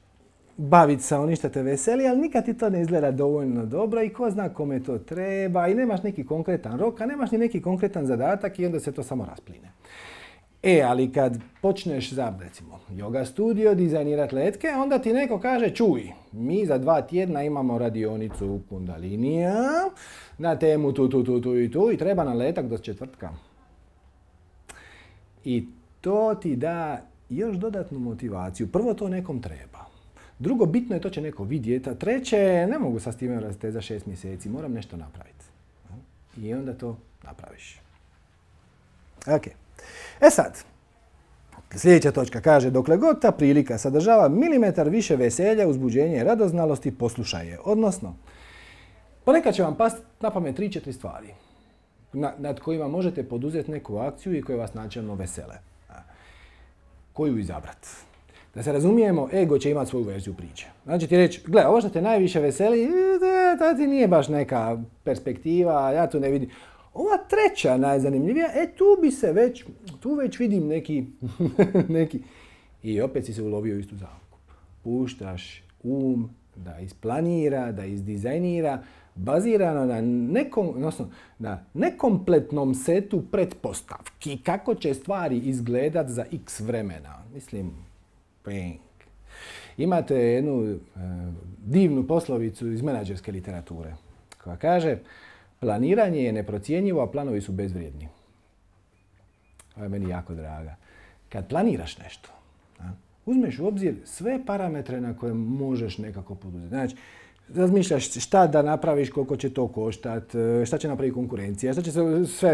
baviti sa onim što te veseli, ali nikad ti to ne izgleda dovoljno dobro i ko zna kome to treba i nemaš neki konkretan rok, a nemaš ni neki konkretan zadatak i onda se to samo raspline. Ali kad počneš za, recimo, yoga studio, dizajnirati letke, onda ti neko kaže, čuj, mi za 2 tjedna imamo radionicu Kundalinija na temu tu i treba nam letak do četvrtka. I to ti da još dodatnu motivaciju. Prvo, to nekom treba. Drugo, bitno je, to će neko vidjeti. A treće, ne mogu sa s time rasti za 6 mjeseci, moram nešto napraviti. I onda to napraviš. Ok. Sad, sljedeća točka kaže, dokle god ta prilika sadržava milimetar više veselja, uzbuđenja i radoznalosti, poslušaj je. Odnosno, ponekad će vam pasti na pamet 3-4 stvari nad kojima možete poduzeti neku akciju i koje vas načelno vesele. Koju izabrati? Da se razumijemo, ego će imati svoju verziju priče. Znači ti reći, gle, ovo što te najviše veseli, to ti nije baš neka perspektiva, ja tu ne vidim. Ova treća najzanimljivija, tu već vidim neki. I opet si se ulovio istu zamku. Puštaš da isplanira, da izdizajnira, bazirano na nekompletnom setu pretpostavki kako će stvari izgledat za x vremena. Mislim, imate jednu divnu poslovicu iz menadžerske literature koja kaže, planiranje je neprocjenjivo, a planovi su bezvrijedni. Ovo je meni jako draga. Kad planiraš nešto, uzmeš u obzir sve parametre na koje možeš nekako poduzeti. Znači, razmišljaš šta da napraviš, koliko će to koštati, šta će napraviti konkurencija,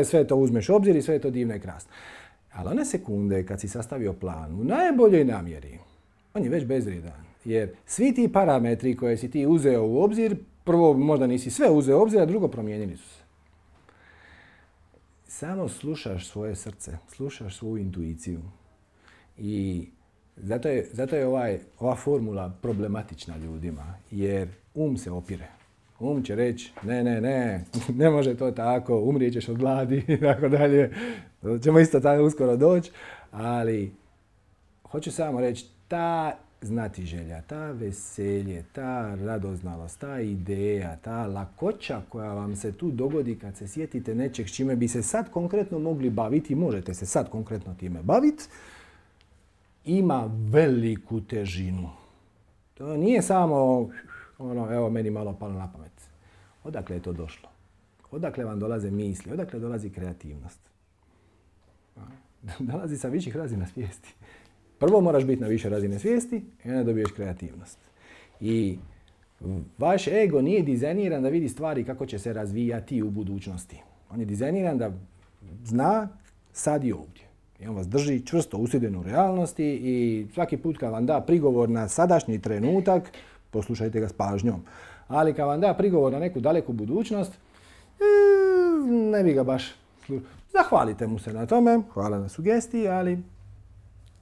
sve to uzmeš u obzir i sve je to divno i krasno. Ali one sekunde kad si sastavio plan u najboljoj namjeri, on je već bezvrijedan. Jer svi ti parametri koje si ti uzeo u obzir, prvo možda nisi sve uzeo u obzir, a drugo promijenili su se. Samo slušaš svoje srce, slušaš svoju intuiciju. I zato je ova formula problematična ljudima, jer se opire. Će reći, ne može to tako, umrijet ćeš od gladi i tako dalje. Ćemo isto tako uskoro doći, ali hoću samo reći, ta znatiželja, ta veselje, ta radoznalost, ta ideja, ta lakoća koja vam se tu dogodi kad se sjetite nečeg s čime bi se sad konkretno mogli baviti, možete se sad konkretno time baviti, ima veliku težinu. To nije samo evo meni malo palo na pamet. Odakle je to došlo? Odakle vam dolaze misli? Odakle dolazi kreativnost? Dolazi sa viših razina svijesti. Prvo moraš biti na više razine svijesti i onda dobiješ kreativnost. I vaš ego nije dizajniran da vidi stvari kako će se razvijati u budućnosti. On je dizajniran da zna sad i ovdje. I on vas drži čvrsto usjedinu u realnosti i svaki put kad vam da prigovor na sadašnji trenutak, poslušajte ga s pažnjom. Ali kad vam da prigovor na neku daleku budućnost, ne bi ga baš slušao. Zahvalite mu se na tome, hvala na sugestiji, ali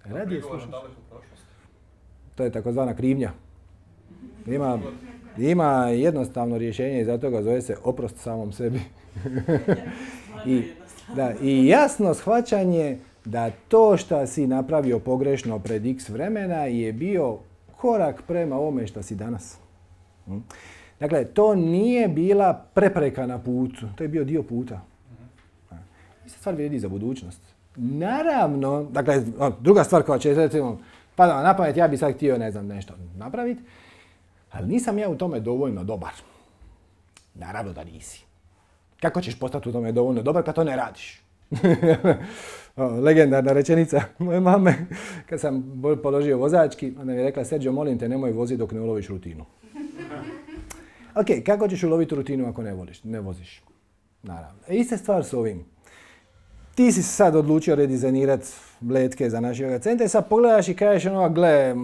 radije slušati. To je takozvana krivnja. Ima jednostavno rješenje i zato ga zove se oprost samom sebi. I jasno shvaćanje da to što si napravio pogrešno pred x vremena je bio korak prema ovome što si danas. Dakle, to nije bila prepreka na putu, to je bio dio puta. Ista stvar vrijedi za budućnost. Naravno, dakle, druga stvar koja će, recimo, pada na pamet, ja bi sad htio, nešto napraviti, ali nisam ja u tome dovoljno dobar. Naravno da nisi. Kako ćeš postati u tome dovoljno dobar kad to ne radiš? Legendarna rečenica moje mame, kad sam položio vozački, ona mi je rekla, Sergio, molim te, nemoj voziti dok ne uloviš rutinu. Ok, kako ćeš uloviti rutinu ako ne voziš? Naravno. Ista stvar s ovim. Ti si sad odlučio redizajnirati letke za naš yoga centar i sad pogledaš i kažeš gle,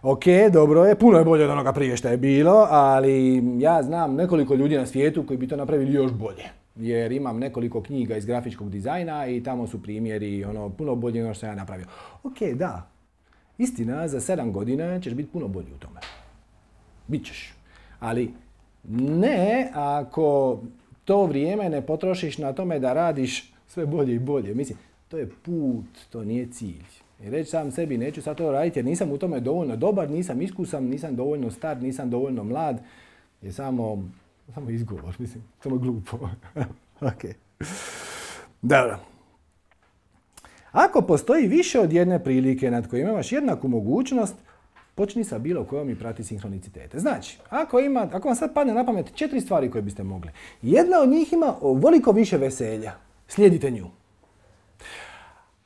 ok, dobro je, puno je bolje od onoga prije što je bilo, ali ja znam nekoliko ljudi na svijetu koji bi to napravili još bolje. Jer imam nekoliko knjiga iz grafičkog dizajna i tamo su primjeri puno bolje nego što sam ja napravio. Ok, da. Istina, za 7 godina ćeš biti puno bolji u tome. Bićeš. Ali ne ako to vrijeme ne potrošiš na tome da radiš sve bolje i bolje. Mislim, to je put, to nije cilj. I reći sam sebi, neću sad to raditi jer nisam u tome dovoljno dobar, nisam iskusan, nisam dovoljno star, nisam dovoljno mlad, je samo izgovor, mislim, samo glupo. Ok. Dobro. Ako postoji više od jedne prilike nad kojima imaš jednaku mogućnost, počni sa bilo kojom i prati sinhronicitete. Znači, ako vam sad padne na pamet 4 stvari koje biste mogli, jedna od njih ima ovoliko više veselja, slijedite nju.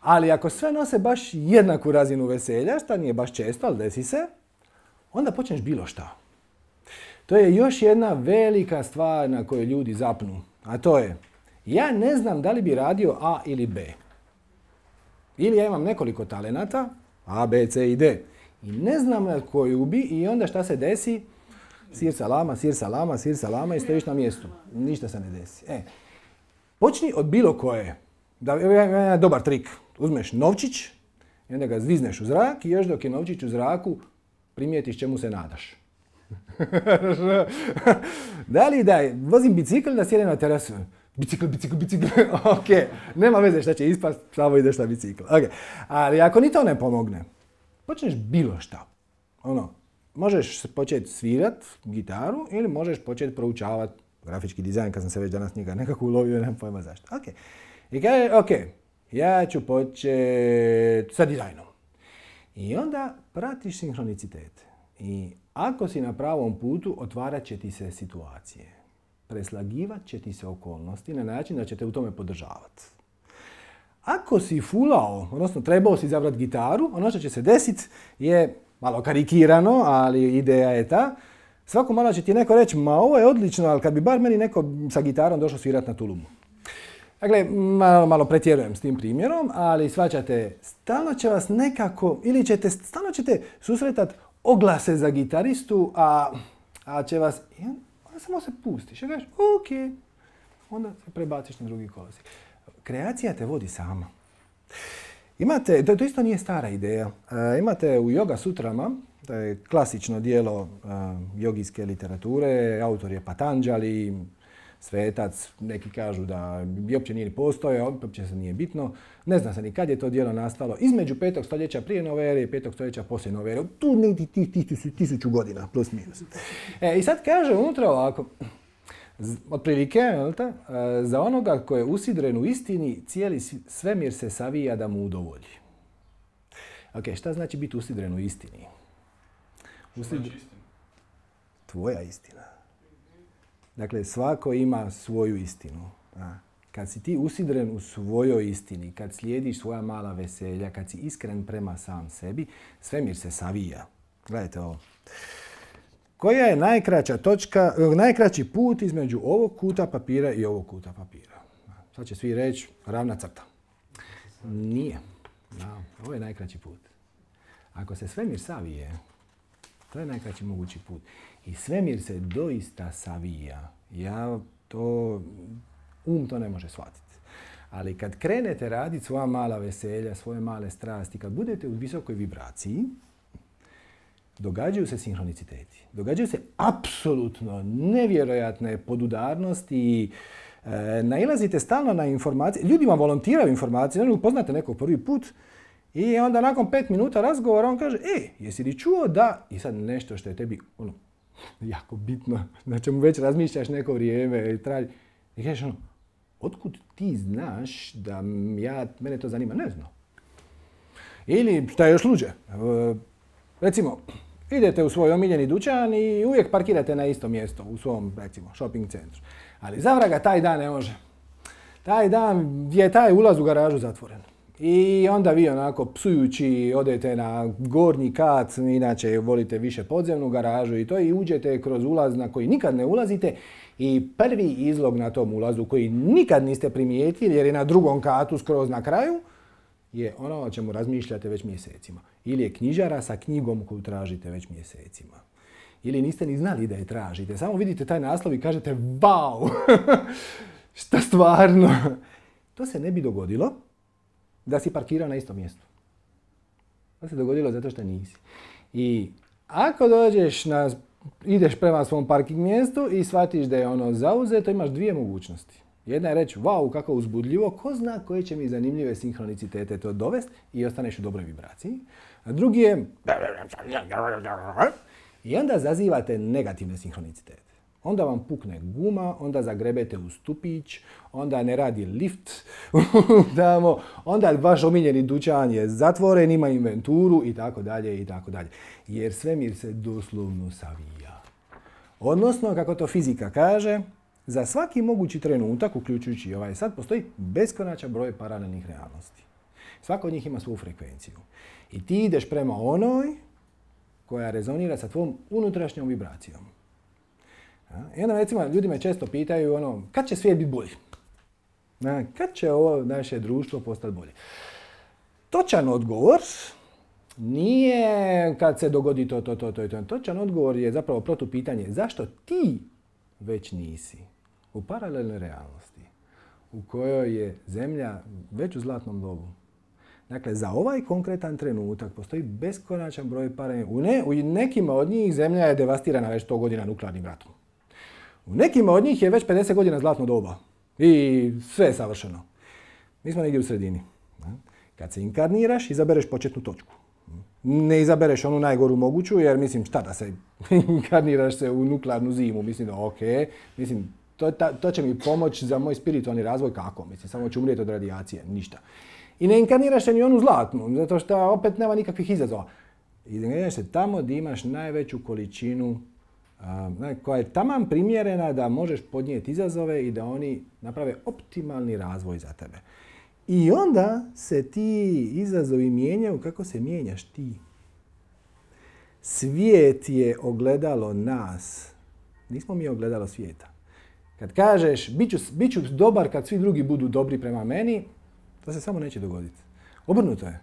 Ali ako sve nose baš jednaku razinu veselja, što nije baš često, ali desi se, onda počneš bilo šta. To je još jedna velika stvar na kojoj ljudi zapnu, a to je, ja ne znam da li bi radio A ili B. Ili ja imam nekoliko talenata, A, B, C i D. I ne znam na koju bi i onda šta se desi? Sir salama, sir salama, sir salama i stojiš na mjestu. Ništa se ne desi. Počni od bilo koje. Dobar trik. Uzmeš novčić i onda ga zvizneš u zrak i još dok je novčić u zraku primijetiš čemu se nadaš. Da li da vozim bicikl da sjedem na terasu? Bicikl. Ok, nema veze šta će ispast, samo ideš na bicikl. Okay. Ali ako ni to ne pomogne, počneš bilo šta. Možeš početi svirat gitaru ili možeš početi proučavati grafički dizajn, kad sam se već danas njega nekako ulovio, nemam pojma zašto. Okay. I kaže, ok, ja ću početi sa dizajnom. I onda pratiš sinhronicitete. I ako si na pravom putu, otvarat će ti se situacije. Preslagivat će ti se okolnosti na način da će te u tome podržavati. Ako si fulao, odnosno trebao si izabrati gitaru, ono što će se desiti je malo karikirano, ali ideja je ta. Svako malo će ti neko reći, ma ovo je odlično, ali kad bi bar meni neko sa gitarom došao svirati na tulumu. Dakle, malo pretjerujem s tim primjerom, ali shvaćate, stalno će vas nekako, ili stalno ćete susretati oglase za gitaristu, a će vas, onda samo se pustiš, i kažeš, ok, onda se prebaciš na drugi kolosijek. Kreacija te vodi sama. Imate, to isto nije stara ideja, imate u Yoga Sutrama, to je klasično dijelo jogijske literature, autor je Patanjali, svetac, neki kažu da bi uopće nije ni postojao, uopće se nije bitno. Ne zna se ni kad je to djelo nastalo. Između 5. stoljeća prije nove ere i 5. stoljeća poslije nove ere. Tu negdje 1000 godina, plus minus. I sad kaže unutra ovako, otprilike, za onoga ko je usidren u istini, cijeli svemir se savija da mu udovolji. Ok, šta znači biti usidren u istini? Tvoja istina. Dakle, svako ima svoju istinu. Kad si ti usidren u svojoj istini, kad slijediš svoja mala veselja, kad si iskren prema sam sebi, svemir se savija. Gledajte ovo. Koja je najkraći put između ovog kuta papira i ovog kuta papira? Sad će svi reći ravna crta. Nije. Ovo je najkraći put. Ako se svemir savije, to je najkraći mogući put. I svemir se doista savija. To ne može shvatiti. Ali kad krenete raditi svoja mala veselja, svoje male strasti, kad budete u visokoj vibraciji, događaju se sinhroniciteti. Događaju se apsolutno nevjerojatne podudarnosti i nailazite stalno na informacije. Ljudi vam volontiraju informacije, ne upoznate nekog prvi put i onda nakon 5 minuta razgovora on kaže, jesi li čuo da, i sad nešto što je tebi jako bitno, na čemu već razmišljaš neko vrijeme i traži. I kažeš otkud ti znaš da mene to zanima? Ne znam. Ili šta je još luđe, recimo, idete u svoj omiljeni dućan i uvijek parkirate na isto mjesto u svom, recimo, shopping centru. Ali zavraga taj dan ne može. Taj dan je taj ulaz u garažu zatvoren. I onda vi onako psujući odete na gornji kat, inače volite više podzemnu garažu i to i uđete kroz ulaz na koji nikad ne ulazite i prvi izlog na tom ulazu koji nikad niste primijetili jer je na drugom katu skroz na kraju je ono o čemu razmišljate već mjesecima. Ili je knjižara sa knjigom koju tražite već mjesecima. Ili niste ni znali da je tražite. Samo vidite taj naslov i kažete wow, šta stvarno. To se ne bi dogodilo da si parkirao na istom mjestu. To se dogodilo zato što nisi. I ako ideš prema svom parking mjestu i shvatiš da je ono zauzeto, imaš dvije mogućnosti. Jedna je reći, wow, kako uzbudljivo, ko zna koje će mi zanimljive sinhronicitete to dovesti i ostaneš u dobroj vibraciji. A drugi je, i onda zazivate negativne sinhronicitete. Onda vam pukne guma, onda zagrebete u stupić, onda ne radi lift tamo, onda vaš omiljeni dućan je zatvoren, ima inventuru i tako dalje i tako dalje. Jer svemir se doslovno savija. Odnosno, kako to fizika kaže, za svaki mogući trenutak, uključujući ovaj sad, postoji beskonačan broj paralelnih realnosti. Svako od njih ima svoju frekvenciju. I ti ideš prema onoj koja rezonira sa tvojom unutrašnjom vibracijom. I onda recimo ljudi me često pitaju kad će svijet biti bolji? Kad će ovo naše društvo postati bolje? Točan odgovor nije kad se dogodi to. Točan odgovor je zapravo protupitanje. Zašto ti već nisi u paralelnoj realnosti u kojoj je Zemlja već u zlatnom dobu? Dakle, za ovaj konkretan trenutak postoji beskonačan broj paralelnih. U nekima od njih Zemlja je devastirana već 100 godina nuklearnim ratom. U nekima od njih je već 50 godina zlatno doba. I sve je savršeno. Mi smo negdje u sredini. Kad se inkarniraš, izabereš početnu točku. Ne izabereš onu najgoru moguću, jer mislim, šta da se inkarniraš se u nuklearnu zimu. Mislim da ok. Mislim, to će mi pomoći za moj spiritualni razvoj. Kako? Mislim, samo ću umrijeti od radijacije. Ništa. I ne inkarniraš se ni onu zlatnu, zato što opet nema nikakvih izazova. Inkarniraš se tamo gdje imaš najveću količinu koja je taman primjerena da možeš podnijeti izazove i da oni naprave optimalni razvoj za tebe. I onda se ti izazovi mijenjaju kako se mijenjaš ti. Svijet je ogledalo nas. Nismo mi ogledalo svijeta. Kad kažeš bit ću dobar kad svi drugi budu dobri prema meni, to se samo neće dogoditi. Obrnuto je.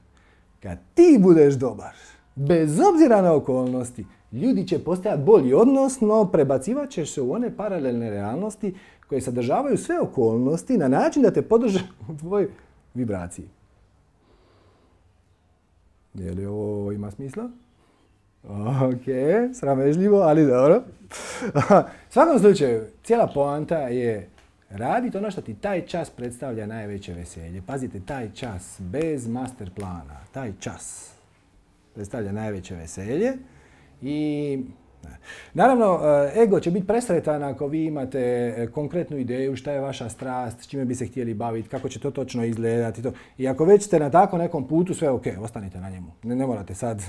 Kad ti budeš dobar, bez obzira na okolnosti, ljudi će postajati bolji, odnosno prebacivat ćeš se u one paralelne realnosti koje sadržavaju sve okolnosti na način da te podrže u tvojoj vibraciji. Je li ovo ima smisla? Ok, sramežljivo, ali dobro. U svakom slučaju, cijela poanta je raditi ono što ti taj čas predstavlja najveće veselje. Pazite, taj čas, bez master plana, taj čas predstavlja najveće veselje. I naravno, ego će biti presretan ako vi imate konkretnu ideju šta je vaša strast, s čime bi se htjeli baviti, kako će to točno izgledati. I ako već ste na tako nekom putu, sve ok, ostanite na njemu. Ne morate sad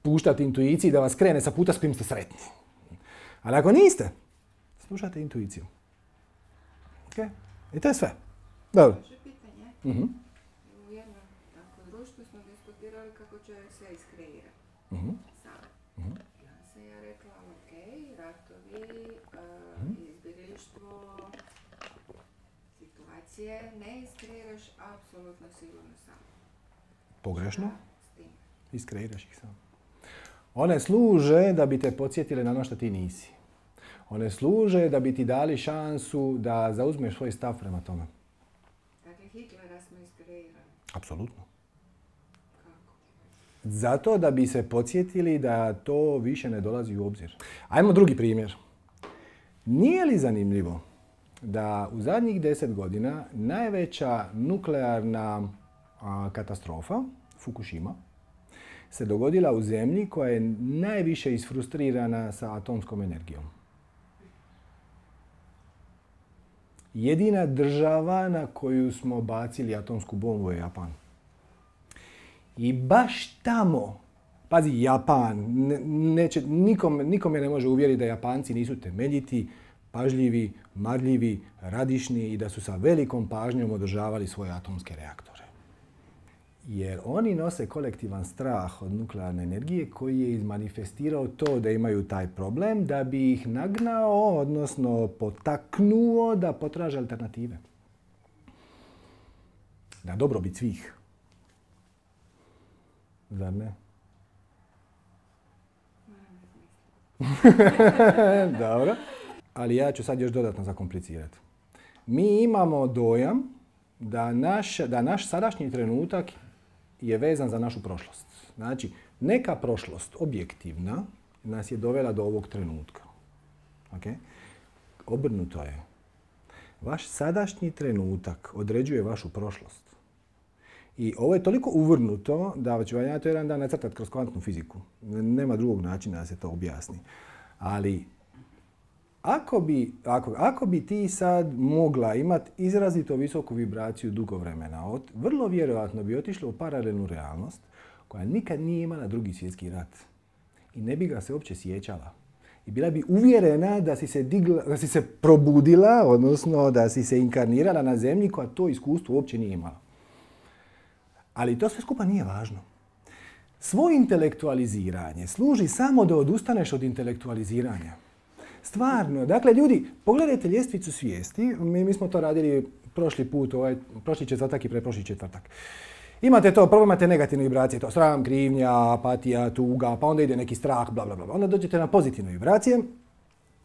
puštati intuiciji da vas krene sa puta s kojim ste sretni. Ali ako niste, slušajte intuiciju. Ok? I to je sve. Dobro. Pitanje. U jednom društvu smo diskutirali kako će sve iskreirati. Ja rekla, ok, ratovi, izbjeglištvo, situacije, ne iskreiraš apsolutno sigurno sam. Pogrešno? Iskreiraš ih sam. One služe da bi te podsjetile na ono što ti nisi. One služe da bi ti dali šansu da zauzmeš svoj stav prema tome. Dakle, Hitlera smo iskreirali. Apsolutno. Kako? Zato da bi se podsjetili da to više ne dolazi u obzir. Ajmo drugi primjer. Nije li zanimljivo da u zadnjih 10 godina najveća nuklearna katastrofa, Fukushima, se dogodila u zemlji koja je najviše isfrustrirana sa atomskom energijom. Jedina država na koju smo bacili atomsku bombu je Japan. I baš tamo, pazi, Japan, nikome ne može uvjeriti da Japanci nisu temeljiti, pažljivi, marljivi, radišni i da su sa velikom pažnjom održavali svoje atomske reaktore. Jer oni nose kolektivan strah od nuklearne energije koji je izmanifestirao to da imaju taj problem da bi ih nagnao, odnosno potaknuo da potraže alternative. Na dobrobit svih. Zar ne? Dobro. Ali ja ću sad još dodatno zakomplicirati. Mi imamo dojam da naš sadašnji trenutak je vezan za našu prošlost. Znači, neka prošlost, objektivna, nas je dovela do ovog trenutka. Okay? Obrnuto je. Vaš sadašnji trenutak određuje vašu prošlost. I ovo je toliko uvrnuto da ću vam ja to jedan dan nacrtati kroz kvantnu fiziku. Nema drugog načina da se to objasni. Ali ako bi ti sad mogla imati izrazito visoku vibraciju dugo vremena, vrlo vjerojatno bi otišla u paralelnu realnost koja nikad nije imala drugi svjetski rat. I ne bi ga se uopće sjećala. I bila bi uvjerena da si se probudila, odnosno da si se inkarnirala na zemlji koja to iskustvo uopće nije imala. Ali to sve skupa nije važno. Svoje intelektualiziranje služi samo da odustaneš od intelektualiziranja. Stvarno, dakle ljudi, pogledajte ljestvicu svijesti, mi smo to radili prošli četvrtak i pretprošli četvrtak. Imate to, prvo imate negativne vibracije, to sram, krivnja, apatija, tuga, pa onda ide neki strah, bla bla bla. Onda dođete na pozitivne vibracije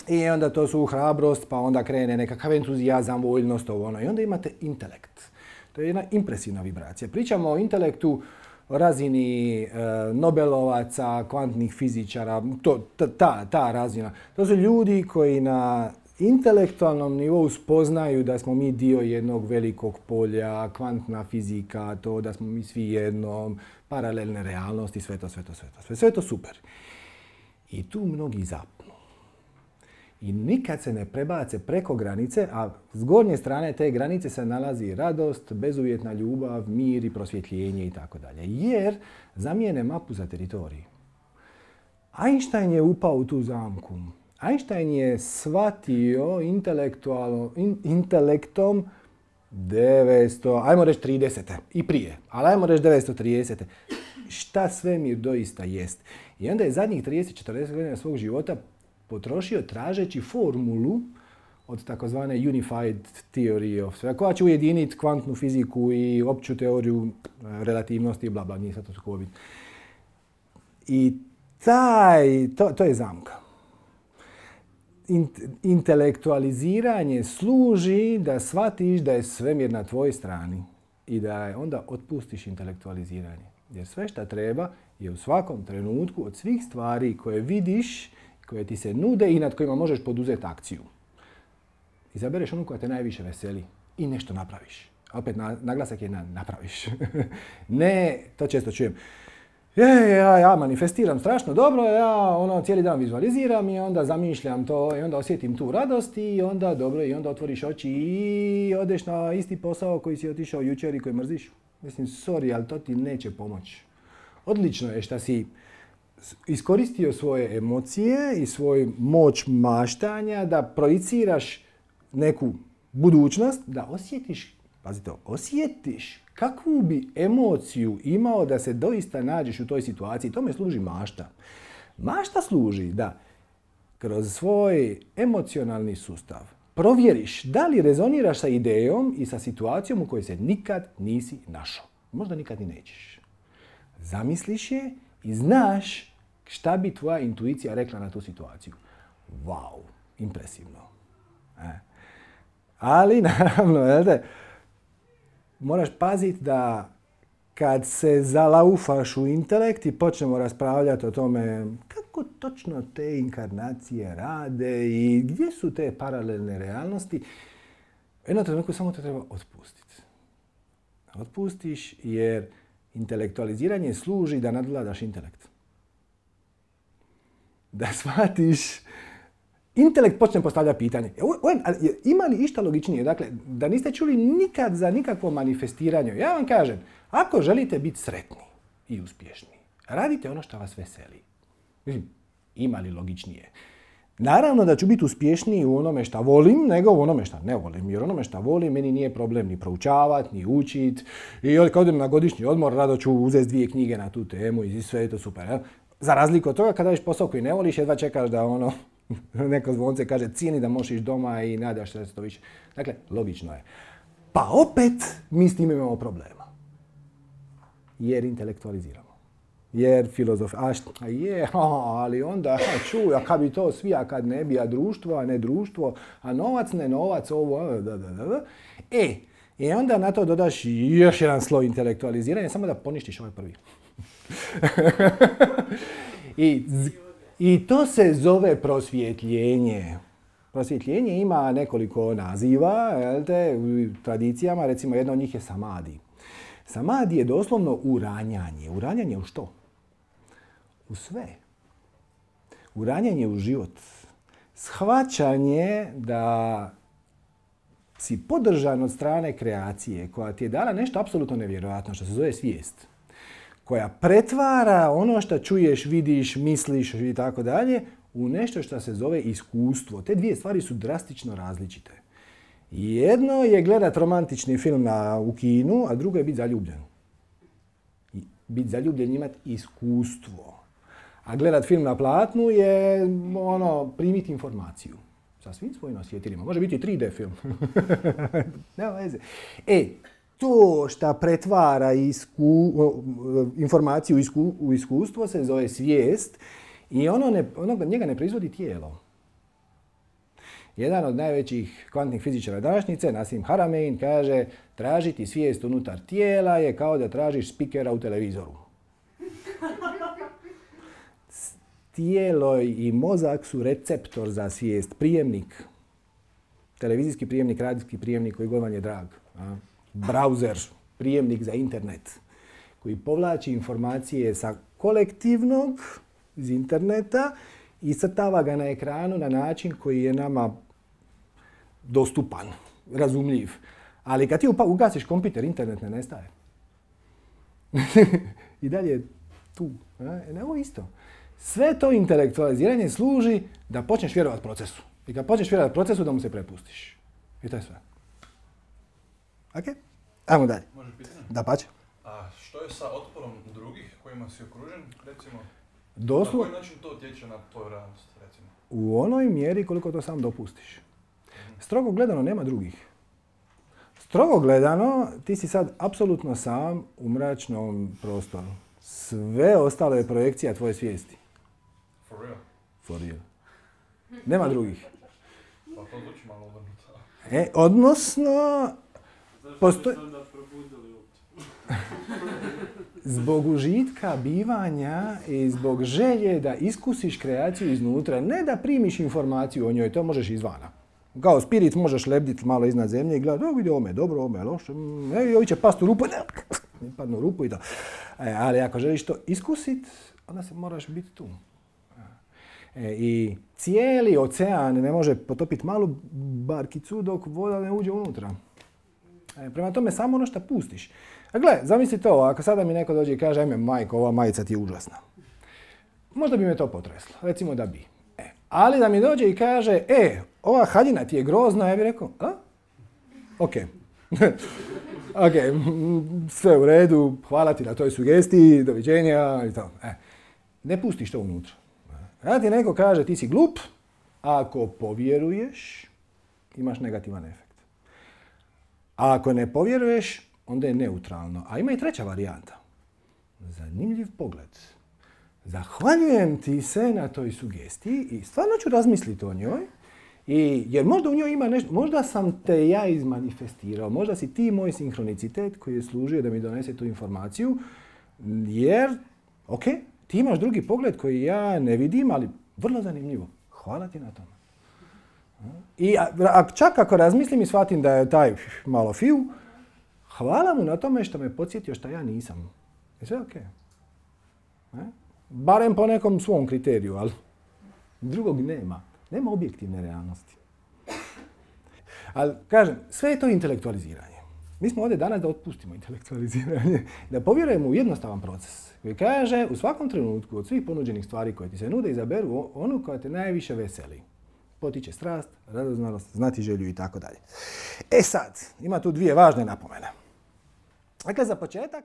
i onda to su hrabrost, pa onda krene nekakav entuzijazam, voljnost, ovo ono. I onda imate intelekt. To je jedna impresivna vibracija. Pričamo o intelektu, o razini Nobelovaca, kvantnih fizičara, ta razina. To su ljudi koji na intelektualnom nivou spoznaju da smo mi dio jednog velikog polja, kvantna fizika, to da smo mi svi jedno, paralelne realnosti, sve je to super. I tu mnogi zapnu. I nikad se ne prebace preko granice, a s gornje strane te granice se nalazi radost, bezuvjetna ljubav, mir i prosvjetljenje itd. Jer zamijene mapu za teritorij. Einstein je upao u tu zamku. Einstein je shvatio intelektom 30. i prije, ali ajmo reći 930. Šta svemir doista jest. I onda je zadnjih 30-40 godina svog života potrošio tražeći formulu od takozvane Unified Theory of Sphere, koja će ujediniti kvantnu fiziku i opću teoriju relativnosti i bla bla, nije sad to tako bitno. I to je zamka. Intelektualiziranje služi da shvatiš da je svemir na tvojoj strani i da onda otpustiš intelektualiziranje. Jer sve što treba je u svakom trenutku od svih stvari koje vidiš, koje ti se nude i nad kojima možeš poduzeti akciju. Izabereš onu koja te najviše veseli i nešto napraviš. Opet naglasak je na napraviš. Ne, to često čujem. Ja manifestiram strašno dobro, ja cijeli dan vizualiziram i onda zamišljam to i onda osjetim tu radost i onda dobro i onda otvoriš oči i odeš na isti posao koji si otišao jučer i koji mrziš. Mislim, sorry, ali to ti neće pomoći. Odlično je što si iskoristio svoje emocije i svoju moć maštanja da projiciraš neku budućnost, da osjetiš, pazite, osjetiš kakvu bi emociju imao da se doista nađeš u toj situaciji. Tome služi mašta. Mašta služi da kroz svoj emocionalni sustav provjeriš da li rezoniraš sa idejom i sa situacijom u kojoj se nikad nisi našao. Možda nikad ni nećeš. Zamisliš je i znaš šta bi tvoja intuicija rekla na tu situaciju. Wow, impresivno. Ali, naravno, moraš paziti da kad se zalaufaš u intelekt i počnemo raspravljati o tome kako točno te inkarnacije rade i gdje su te paralelne realnosti, u jednom trenutku samo te treba otpustiti. Otpustiš jer intelektualiziranje služi da nadvladaš intelekt. Da shvatiš, intelekt počne postavljati pitanje. Ima li išta logičnije? Dakle, da niste čuli nikad za nikakvo manifestiranje. Ja vam kažem, ako želite biti sretni i uspješni, radite ono što vas veseli. Mislim, ima li logičnije? Naravno da ću biti uspješniji u onome što volim, nego u onome što ne volim. Jer onome što volim meni nije problem ni proučavati, ni učiti. I kad odem na godišnji odmor, rado ću uzeti 2 knjige na tu temu i sve je to super. Ja? Za razliku od toga, kada radiš posao koji ne voliš, jedva čekaš da neko zvonce kaže cijeni da možeš ići doma i nadaš se da se to više. Dakle, logično je. Pa opet mi s tim imamo problema. Jer intelektualiziramo. Jer filozof, ali onda, čuj, a kad bi to svi, a kad ne bi, a društvo, a ne društvo, a novac, ne novac, ovo, I onda na to dodaš još jedan sloj intelektualiziranja, samo da poništiš ovaj prvi. I to se zove prosvjetljenje. Prosvjetljenje ima nekoliko naziva, u tradicijama, recimo jedna od njih je samadi. Samadi je doslovno uranjanje. Uranjanje u što? U sve. Uranjanje u život. Shvaćanje da si podržan od strane kreacije koja ti je dala nešto apsolutno nevjerojatno što se zove svijest. Koja pretvara ono što čuješ, vidiš, misliš i tako dalje u nešto što se zove iskustvo. Te dvije stvari su drastično različite. Jedno je gledat romantični film u kinu, a drugo je biti zaljubljen. Biti zaljubljen je imati iskustvo. A gledat film na platnu je primiti informaciju. Sa svim svojim osjetilima. Može biti i 3D film. Nema veze. To što pretvara informaciju u iskustvo se zove svijest i njega ne proizvodi tijelo. Jedan od najvećih kvantnih fizičara današnjice, Nassim Haramein, kaže tražiti svijest unutar tijela je kao da tražiš spikera u televizoru. Tijelo i mozak su receptor za svijest, prijemnik. Televizijski prijemnik, radijski prijemnik koji god vam je drag. Browser, prijemnik za internet koji povlači informacije sa kolektivnog iz interneta i crtava ga na ekranu na način koji je nama dostupan, razumljiv. Ali kad ti ugasiš kompjuter, internet ne nestaje. I dalje je tu. Ovo isto. Sve to intelektualiziranje služi da počneš vjerovati procesu. I kad počneš vjerovati procesu, da mu se prepustiš. I to je sve. Ok? Ajmo dalje. Može pitanje? Da, pače. A što je sa otporom drugih kojima si okružen, recimo? Na koji način to utječe na tvoju realnost, recimo? U onoj mjeri koliko to sam dopustiš. Strogo gledano nema drugih. Strogo gledano ti si sad apsolutno sam u mračnom prostoru. Sve ostalo je projekcija tvoje svijesti. For real? For real. Nema drugih. Pa to zvuči malo obrnuto. Odnosno... Zbog užitka bivanja i zbog želje da iskusiš kreaciju iznutra, ne da primiš informaciju o njoj, to možeš izvana. Kao spirit možeš lebditi malo iznad zemlje i gledati, vidi ome, dobro, ome, loše, ovi će past u rupu, ne padnu u rupu i to. Ali ako želiš to iskusit, onda se moraš biti tu. I cijeli ocean ne može potopiti malu barkicu dok voda ne uđe unutra. Prema tome, samo ono što pustiš. Gle, zamisli to, ako sada mi neko dođe i kaže, ajme, majko, ova majica ti je užasna. Možda bi me to potreslo, recimo da bi. Ali da mi dođe i kaže, ova haljina ti je grozna, ja bih rekao, ok. Ok, sve u redu, hvala ti na toj sugestiji, doviđenja i to. Ne pustiš to unutra. Kada ti neko kaže, ti si glup, ako povjeruješ, imaš negativan efekt. A ako ne povjeruješ, onda je neutralno. A ima i treća varijanta. Zanimljiv pogled. Zahvaljujem ti se na toj sugestiji i stvarno ću razmisliti o njoj. Jer možda u njoj ima nešto, možda sam te ja izmanifestirao, možda si ti moj sinhronicitet koji je služio da mi donese tu informaciju. Jer, ok, ti imaš drugi pogled koji ja ne vidim, ali vrlo zanimljivo. Hvala ti na tome. I čak ako razmislim i shvatim da je taj malo fiu, hvala mu na tome što me podsjetio što ja nisam. Je sve ok. Barem po nekom svom kriteriju, ali drugog nema. Nema objektivne realnosti. Ali, kažem, sve je to intelektualiziranje. Mi smo ovdje danas da otpustimo intelektualiziranje, da povjerujemo u jednostavan proces koji kaže u svakom trenutku od svih ponuđenih stvari koje ti se nude izaberu onu koja te najviše veseli. Potiče strast, radoznalost, znati želju i tako dalje. Sad, ima tu dvije važne napomene. Dakle, za početak,